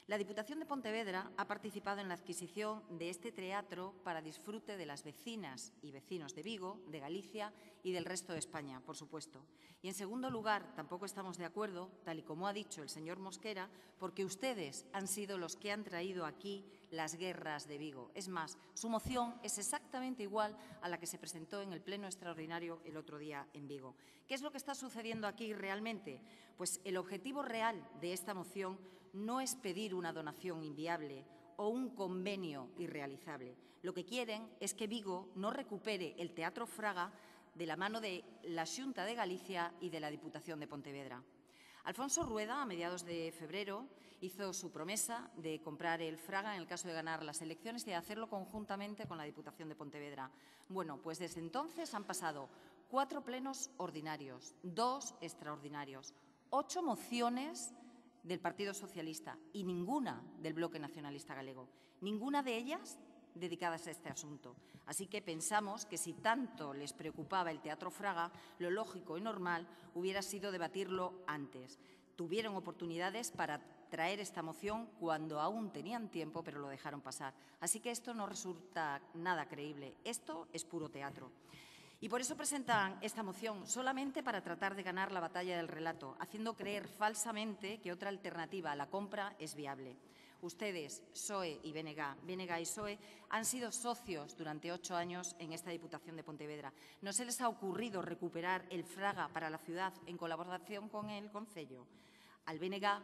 La Diputación de Pontevedra ha participado en la adquisición de este teatro para disfrute de las vecinas y vecinos de Vigo, de Galicia y del resto de España, por supuesto. Y, en segundo lugar, tampoco estamos de acuerdo, tal y como ha dicho el señor Mosquera, porque ustedes han sido los que han traído aquí las guerras de Vigo. Es más, su moción es exactamente igual a la que se presentó en el Pleno Extraordinario el otro día en Vigo. ¿Qué es lo que está sucediendo aquí realmente? Pues el objetivo real de esta moción no es pedir una donación inviable o un convenio irrealizable. Lo que quieren es que Vigo no recupere el Teatro Fraga de la mano de la Xunta de Galicia y de la Diputación de Pontevedra. Alfonso Rueda, a mediados de febrero, hizo su promesa de comprar el Fraga en el caso de ganar las elecciones y de hacerlo conjuntamente con la Diputación de Pontevedra. Bueno, pues desde entonces han pasado 4 plenos ordinarios, 2 extraordinarios, 8 mociones del Partido Socialista y ninguna del Bloque Nacionalista Galego. Ninguna de ellas dedicadas a este asunto. Así que pensamos que si tanto les preocupaba el Teatro Fraga, lo lógico y normal hubiera sido debatirlo antes. tuvieron oportunidades para traer esta moción cuando aún tenían tiempo, pero lo dejaron pasar. Así que esto no resulta nada creíble. Esto es puro teatro. Y por eso presentan esta moción, solamente para tratar de ganar la batalla del relato, haciendo creer falsamente que otra alternativa a la compra es viable. Ustedes, PSOE y BNG y PSOE, han sido socios durante 8 años en esta Diputación de Pontevedra. ¿No se les ha ocurrido recuperar el Fraga para la ciudad en colaboración con el Concello? Al BNG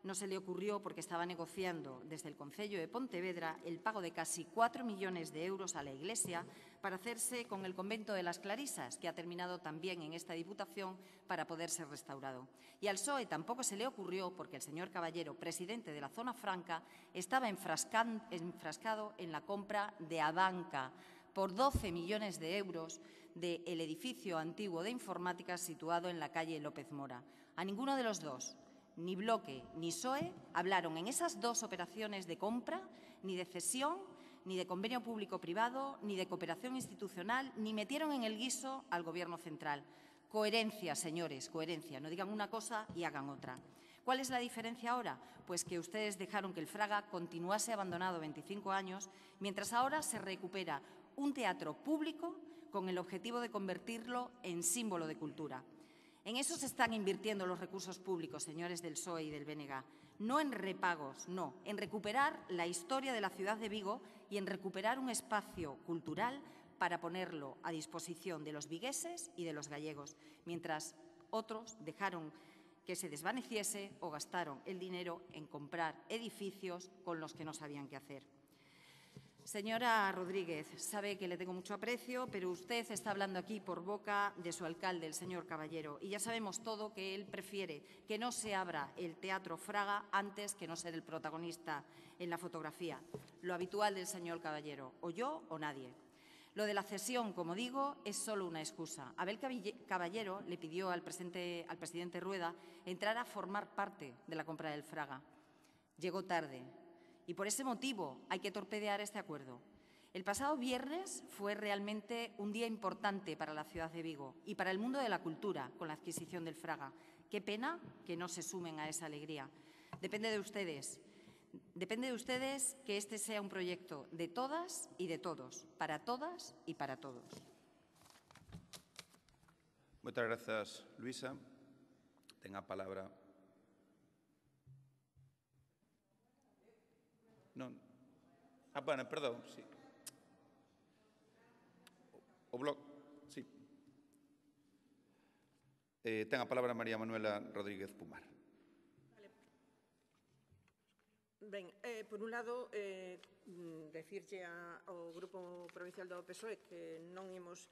no se le ocurrió porque estaba negociando desde el Concello de Pontevedra el pago de casi 4 millones de euros a la Iglesia para hacerse con el convento de las Clarisas, que ha terminado también en esta Diputación para poder ser restaurado. Y al PSOE tampoco se le ocurrió porque el señor Caballero, presidente de la Zona Franca, estaba enfrascado en la compra de Abanca por 12 millones de euros del edificio antiguo de informática situado en la calle López Mora. A ninguno de los dos, ni Bloque ni PSOE, hablaron en esas 2 operaciones de compra, ni de cesión, ni de convenio público-privado, ni de cooperación institucional, ni metieron en el guiso al Gobierno central. Coherencia, señores, coherencia. No digan una cosa y hagan otra. ¿Cuál es la diferencia ahora? Pues que ustedes dejaron que el Fraga continuase abandonado 25 años, mientras ahora se recupera un teatro público con el objetivo de convertirlo en símbolo de cultura. En eso se están invirtiendo los recursos públicos, señores del PSOE y del BNG. No en repagos, no, en recuperar la historia de la ciudad de Vigo y en recuperar un espacio cultural para ponerlo a disposición de los vigueses y de los gallegos, mientras otros dejaron que se desvaneciese o gastaron el dinero en comprar edificios con los que no sabían qué hacer. Señora Rodríguez, sabe que le tengo mucho aprecio, pero usted está hablando aquí por boca de su alcalde, el señor Caballero, y ya sabemos todo que él prefiere que no se abra el Teatro Fraga antes que no ser el protagonista en la fotografía. Lo habitual del señor Caballero, o yo o nadie. Lo de la cesión, como digo, es solo una excusa. Abel Caballero le pidió al presidente Rueda entrar a formar parte de la compra del Fraga. Llegó tarde. Y por ese motivo hay que torpedear este acuerdo. El pasado viernes fue realmente un día importante para la ciudad de Vigo y para el mundo de la cultura con la adquisición del Fraga. Qué pena que no se sumen a esa alegría. Depende de ustedes. Depende de ustedes que este sea un proyecto de todas y de todos, para todas y para todos. Muchas gracias, Luisa. Tenga palabra. Non. Bueno, perdón, sí. O bloque, sí. Ten a palabra María Manuela Rodríguez Pumar. Ben, por un lado, decirlle ao Grupo Provincial do PSOE que non imos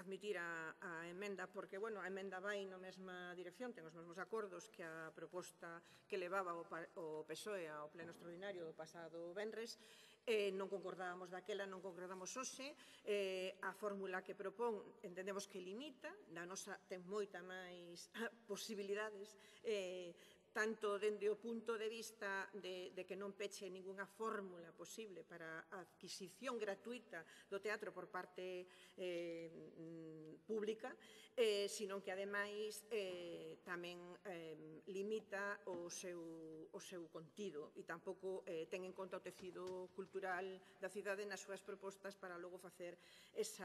admitir a emenda, porque, bueno, a emenda vai na mesma dirección, ten os mesmos acordos que a proposta que levaba o PSOE ao pleno extraordinario do pasado venres. Non concordábamos daquela, non concordamos hoxe. A fórmula que propón entendemos que limita, na nosa ten moita máis posibilidades, tanto dende o punto de vista de que non peche ningunha fórmula posible para a adquisición gratuita do teatro por parte pública, sino que, ademais, tamén limita o seu contido e tampouco ten en conta o tecido cultural da cidade nas súas propostas para logo facer ese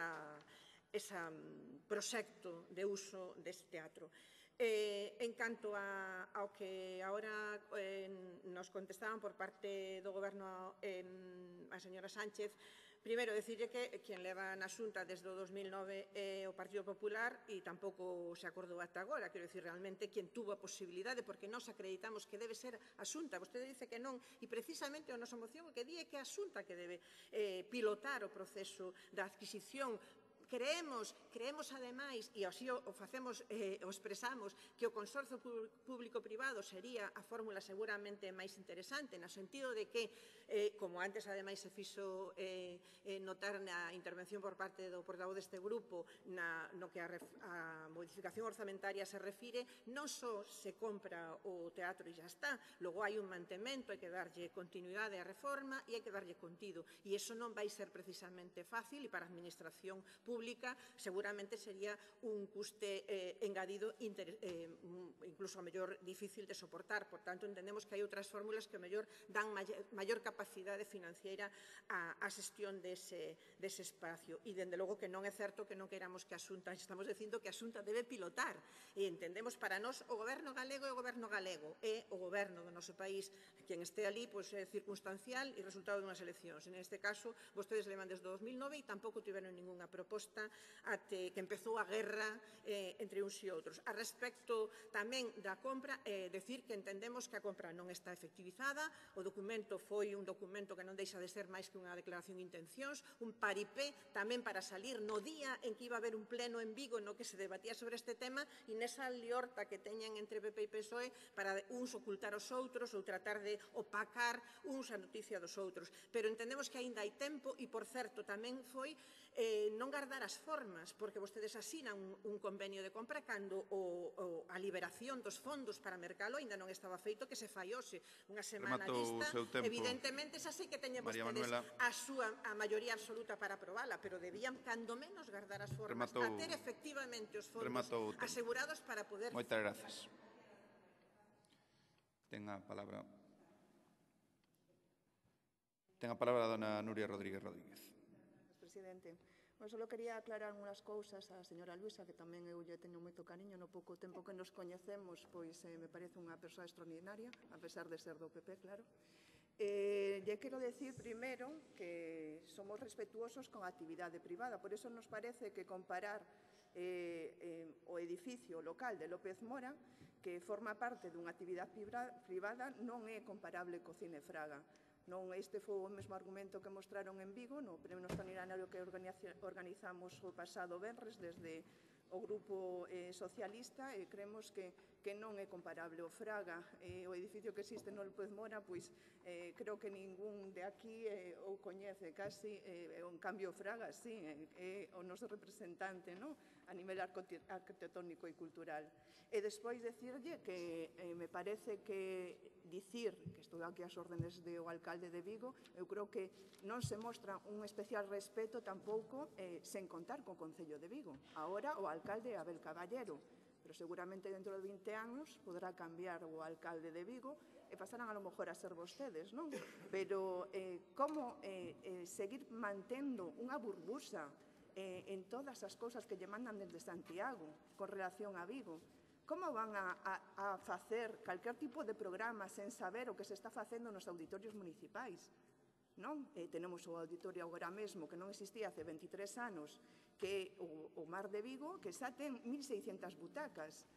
proxecto de uso deste teatro. En canto ao que agora nos contestaban por parte do Goberno a señora Sánchez, primeiro, decirlle que quen leva na Xunta desde o 2009 é o Partido Popular e tampouco se acordou ata agora. Quero dicir, realmente, quen tuvo a posibilidade, porque nós acreditamos que debe ser a Xunta. Vostede dice que non, e precisamente a nosa moción o que di é que a Xunta que debe pilotar o proceso da adquisición. Creemos ademais, e así o facemos, o expresamos, que o consorcio público-privado sería a fórmula seguramente máis interesante, no sentido de que, como antes ademais se fixo notar na intervención por parte do portavoz deste grupo, no que a modificación orzamentaria se refire, non só se compra o teatro e xa está, logo hai un mantemento, hai que darlle continuidade á reforma e hai que darlle contido, e iso non vai ser precisamente fácil, e para a administración pública pública, seguramente sería un custe engadido incluso a mellor difícil de soportar. Por tanto, entendemos que hai outras fórmulas que a mellor dan maior capacidade financiera á xestión dese espacio. E, dende logo, que non é certo que non queiramos que a Xunta, estamos dicindo que a Xunta debe pilotar. E entendemos, para nós, o Goberno galego é o Goberno galego, é o Goberno do noso país. Quen este ali é circunstancial e resultado dunhas eleccións. Neste caso, vostedes levan desde 2009 e tampouco tiveron ningunha proposta até que empezou a guerra entre uns e outros. A respecto tamén da compra, decir que entendemos que a compra non está efectivizada, o documento foi un documento que non deixa de ser máis que unha declaración de intencións, un paripé tamén para salir no día en que iba a haber un pleno en Vigo no que se debatía sobre este tema e nesa liorta que teñen entre PP e PSOE para uns ocultar os outros ou tratar de opacar uns a noticia dos outros. Pero entendemos que aínda hai tempo e, por certo, tamén foi non guardar as formas, porque vostedes asinan un convenio de compra cando a liberación dos fondos para mercalo ainda non estaba feito, que se fai hoxe unha semana lista. Evidentemente, xa sei que teñen vostedes a maioría absoluta para aprovala, pero debían, cando menos, guardar as formas a ter efectivamente os fondos asegurados para poder... Moitas grazas. Ten a palabra a dona Nuria Rodríguez Rodríguez. Presidente. Só quería aclarar unhas cousas á señora Luisa, que tamén eu lle teño moito cariño, no pouco tempo que nos coñecemos, pois me parece unha persoa extraordinaria, a pesar de ser do PP, claro. Lle quero decir primeiro que somos respetuosos con a actividade privada, por iso nos parece que comparar o edificio local de López Mora, que forma parte dunha actividade privada, non é comparable co Cine Fraga. Este foi o mesmo argumento que mostraron en Vigo no pleno extraordinario que organizamos o pasado venres desde o Grupo Socialista, e creemos que non é comparable. O Fraga, o edificio que existe no López Mora, pois creo que ningún de aquí o coñece casi, en cambio o Fraga, sí, é o noso representante a nivel arquitectónico e cultural. E despois decirlle que me parece que dicir que estou aquí ás órdenes do alcalde de Vigo, eu creo que non se mostra un especial respeto tampouco sen contar co Concello de Vigo. Agora o alcalde é Abel Caballero, pero seguramente dentro de 20 anos poderá cambiar o alcalde de Vigo e pasarán a lo mejor a ser vostedes, non? Pero como seguir mantendo unha burbuxa en todas as cousas que lle mandan desde Santiago con relación a Vigo? Como van a facer calquer tipo de programa sen saber o que se está facendo nos auditorios municipais? Tenemos o auditorio agora mesmo, que non existía hace 23 anos, que é o Mar de Vigo, que xa ten 1.600 butacas.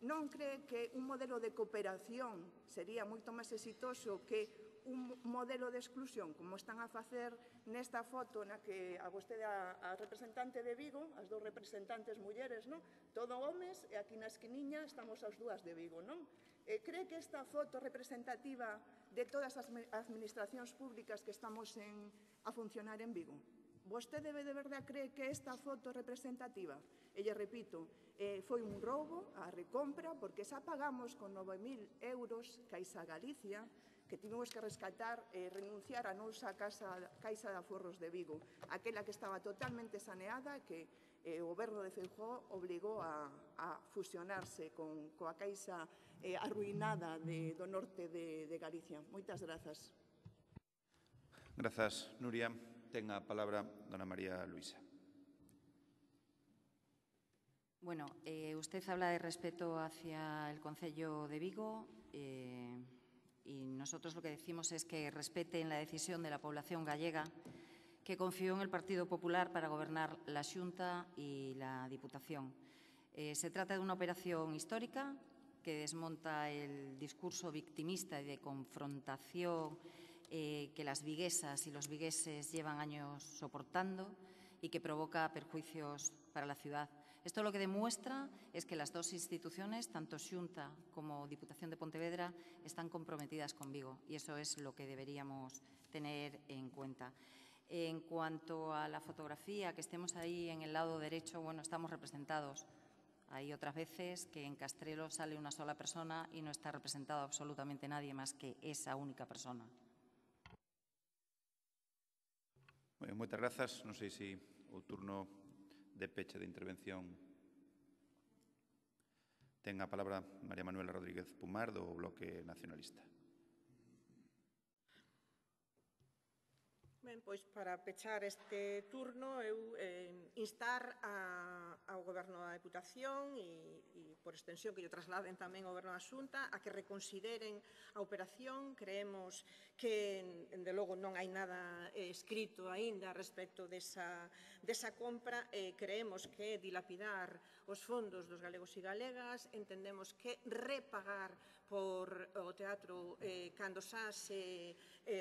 Non cree que un modelo de cooperación sería moito máis exitoso que un modelo de exclusión, como están a facer nesta foto na que a vostede, a representante de Vigo, as dous representantes mulleres, todo homes, e aquí na esquiniña estamos as dúas de Vigo, non? Cree que esta foto representativa de todas as administracións públicas que estamos a funcionar en Vigo? Vostede de verdade cree que esta foto representativa? E lle repito, foi un roubo a recompra, porque xa pagamos con 9.000 euros Caixa Galicia, que tivemos que rescatar e renunciar a nosa Caixa de Aforros de Vigo, aquela que estaba totalmente saneada, que o goberno de Feijóo obligou a fusionarse coa Caixa arruinada do norte de Galicia. Moitas grazas. Grazas, Nuria. Ten a palabra dona María Luisa. Bueno, usted habla de respeto hacia el Concello de Vigo y nosotros lo que decimos es que respeten la decisión de la población gallega que confió en el Partido Popular para gobernar la Xunta y la Diputación. Se trata de una operación histórica que desmonta el discurso victimista y de confrontación que las viguesas y los vigueses llevan años soportando y que provoca perjuicios para la ciudad. Esto lo que demuestra es que las dos instituciones, tanto Xunta como Diputación de Pontevedra, están comprometidas con Vigo y eso es lo que deberíamos tener en cuenta. En cuanto a la fotografía, que estemos ahí en el lado derecho, bueno, estamos representados. Hay otras veces que en Castrelo sale una sola persona y no está representado absolutamente nadie más que esa única persona. Moitas grazas. Non sei se o turno de peche de intervención. Ten a palabra María Manuela Rodríguez Pumar, do Bloque Nacionalista. Ben, pois para pechar este turno, eu instar ao Goberno da Deputación e por extensión que lle trasladen tamén ao Goberno da Xunta a que reconsideren a operación. Creemos que, de logo, non hai nada escrito aínda respecto desa compra. Creemos que dilapidar os fondos dos galegos e galegas. Entendemos que repagar por o teatro cando xa se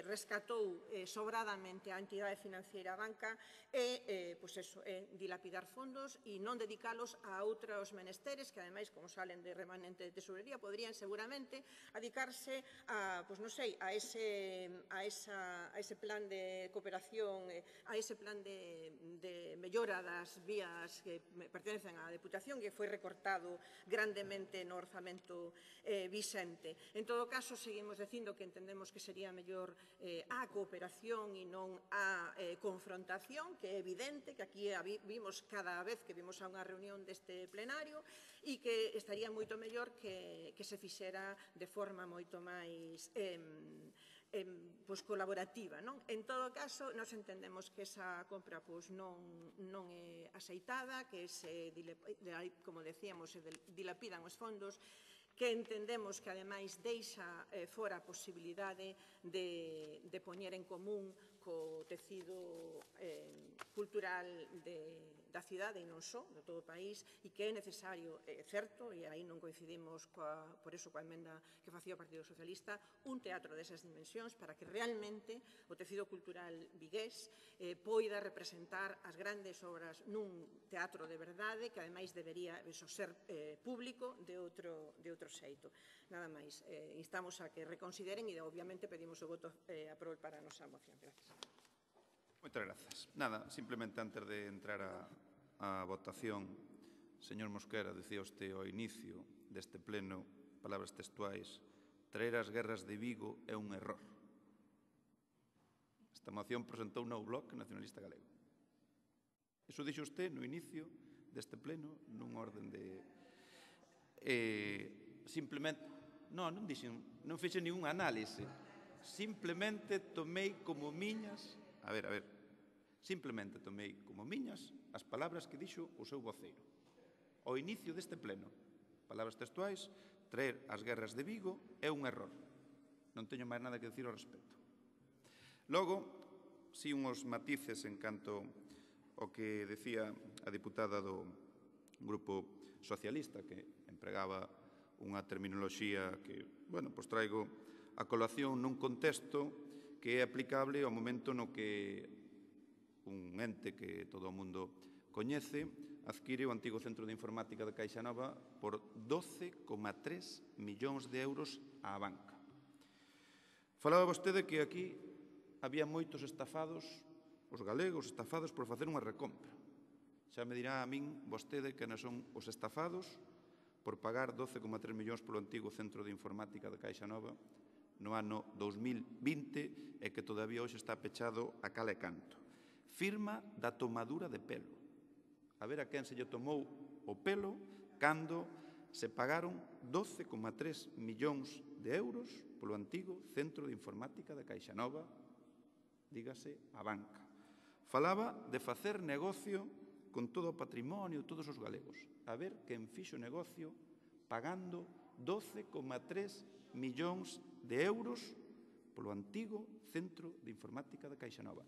rescatou sobradamente a entidade financiera banca dilapidar fondos e non dedicalos a outros menesteres que, ademais, como salen de remanente de tesorería, poderían seguramente dedicarse a, non sei, a ese plan de cooperación, a ese plan de mellora das vías que pertenecen á Deputación, que foi recortado grandemente no orzamento vixente. En todo caso, seguimos dicindo que entendemos que sería mellor a cooperación e non a confrontación, que é evidente que aquí vimos cada vez que vimos a unha reunión deste plenario e que estaría moito mellor que se fixera de forma moito máis colaborativa. En todo caso, nos entendemos que esa compra non é aceitada, que como decíamos, se dilapidan os fondos, que entendemos que, ademais, deixa fora a posibilidade de poñer en común co tecido cultural da cidade e non só, de todo o país, e que é necesario, certo, e aí non coincidimos por iso coa emenda que facía o Partido Socialista, un teatro desas dimensións para que realmente o tecido cultural vigués poida representar as grandes obras nun teatro de verdade que, ademais, debería ser público de outro xeito. Nada máis, instamos a que reconsideren e, obviamente, pedimos o voto a prol para a nosa moción. Gracias. Moitas grazas. Nada, simplemente antes de entrar a votación, señor Mosquera, dicía usted ao inicio deste pleno, palabras textuais, traer as guerras de Vigo é un error. Esta moción presentou no Bloque Nacionalista Galego. Iso dixo usted no inicio deste pleno, nun orden de... Simplemente... Non fixe ningún análise. Simplemente tomei como miñas... A ver, simplemente tomei como miñas as palabras que dixo o seu voceiro. Ao inicio deste pleno, palabras textuais, traer as guerras de Vigo é un error. Non teño máis nada que dicir ao respecto. Logo, si unhos matices en canto ao que decía a diputada do Grupo Socialista, que empregaba unha terminoloxía que, traigo a colación nun contexto que é aplicable ao momento no que un ente que todo o mundo coñece adquire o antigo Centro de Informática de Caixa Nova por 12,3 millóns de euros á banca. Falaba vostede que aquí había moitos estafados, os galegos estafados por facer unha recompra. Xa me dirá a min vostede que non son os estafados por pagar 12,3 millóns polo antigo Centro de Informática de Caixa Nova no ano 2020 e que todavía hoxe está pechado a cal e canto. Firma da tomadura de pelo. A ver a quen se lle tomou o pelo cando se pagaron 12,3 millóns de euros polo antigo Centro de Informática de Caixa Nova, dígase a banca. Falaba de facer negocio con todo o patrimonio de todos os galegos. A ver quen fixo negocio pagando 12,3 millóns de euros polo antigo Centro de Informática de Caixa Nova.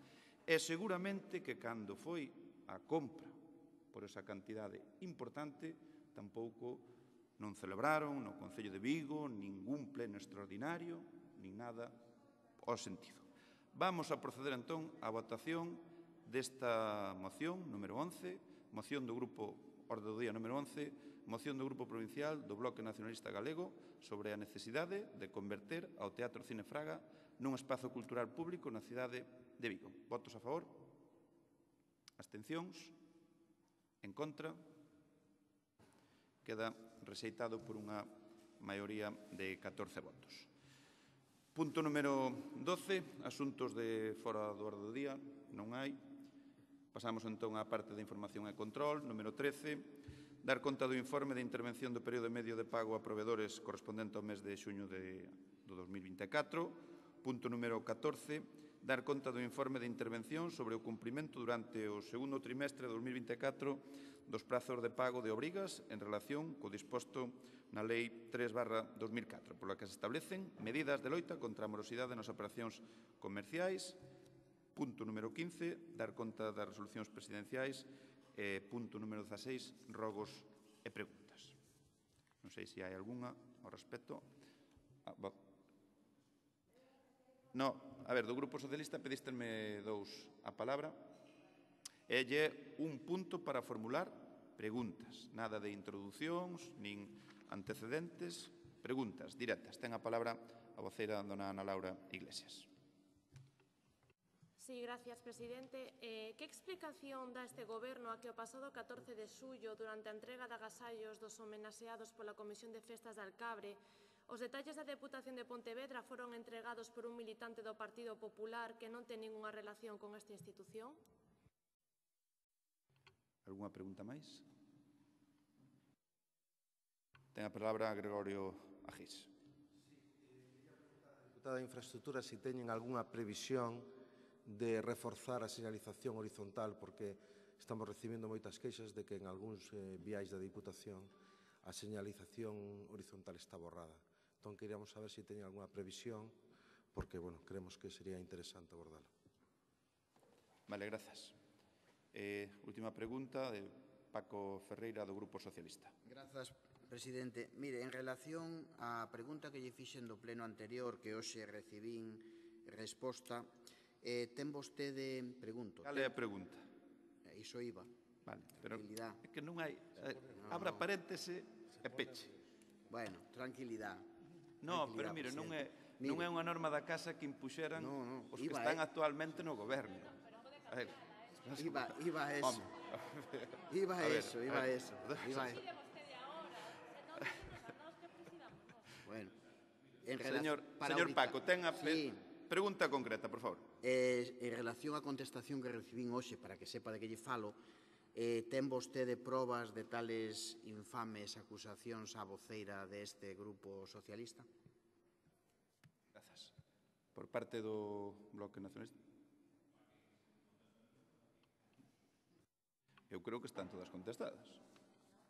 E seguramente que cando foi a compra por esa cantidade importante, tampouco non celebraron no Concello de Vigo ningún pleno extraordinario, nin nada ao sentido. Vamos a proceder entón á votación desta moción número 11, moción do Grupo Orde do Día número 11, moción do Grupo Provincial do Bloque Nacionalista Galego sobre a necesidade de converter ao Teatro Cine Fraga nun espazo cultural público na cidade de Vigo. Votos a favor? Abstencións? En contra? Queda rexeitado por unha maioría de 14 votos. Punto número 12, asuntos de fora do orde do día, non hai. Pasamos entón á parte de información e control. Número 13, dar conta do informe de intervención do período medio de pago a proveedores correspondente ao mes de xuño do 2024. Punto número 14, dar conta do informe de intervención sobre o cumprimento durante o segundo trimestre de 2024 dos prazos de pago de obrigas en relación co disposto na Lei 3/2004, pola que se establecen medidas de loita contra a morosidade nas operacións comerciais. Punto número 15, dar conta das resolucións presidenciais. Punto número 16, rogos e preguntas. Non sei se hai algunha ao respecto. No, a ver, do Grupo Socialista pedístenme dous a palabra. E lle un punto para formular preguntas. Nada de introducións, nin antecedentes. Preguntas directas. Ten a palabra a voceira dona Ana Laura Iglesias. Sí, gracias, presidente. Que explicación dá este Goberno a que o pasado 14 de xullo, durante a entrega de agasallos dos homenaxeados pola Comisión de Festas de Alcabre, os detalles da Deputación de Pontevedra foron entregados por un militante do Partido Popular que non ten ningunha relación con esta institución? Algúna pregunta máis? Ten a palabra Gregorio Agís. Deputada de Infraestructura, se teñen algunha previsión de reforzar a señalización horizontal, porque estamos recibendo moitas queixas de que en algúns viais da Diputación a señalización horizontal está borrada. Entón, queríamos saber se teñen algunha previsión, porque, bueno, creemos que sería interesante abordala. Vale, grazas. Última pregunta de Paco Ferreira, do Grupo Socialista. Grazas, presidente. Mire, en relación á pregunta que lle fixen do pleno anterior, que hoxe recibín resposta, ten vostede, pregunto... Cal é a pregunta? Iso iba. Vale, pero é que non hai... Abra paréntese e peche. Bueno, tranquilidade. No, pero mire, non é unha norma da Casa que impuxeran os que están actualmente no Goberno. A ver... Iba eso. Iba eso. Bueno, señor Paco, ten a pregunta concreta, por favor. En relación á contestación que recibín hoxe, para que sepa de que lle falo, ten vostede probas de tales infames acusacións á voceira deste Grupo Socialista? Grazas. Por parte do Bloque Nacionalista. Eu creo que están todas contestadas.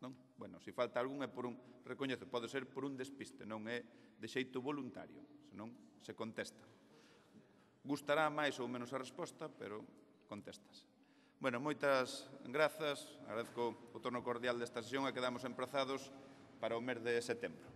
Non? Bueno, se falta algún é por un... Recoñezo, pode ser por un despiste, non é de xeito voluntario, senón se contesta. Gustará máis ou menos a resposta, pero contestas. Bueno, moitas grazas. Agradezco o torno cordial desta sesión e quedamos emprazados para o mes de setembro.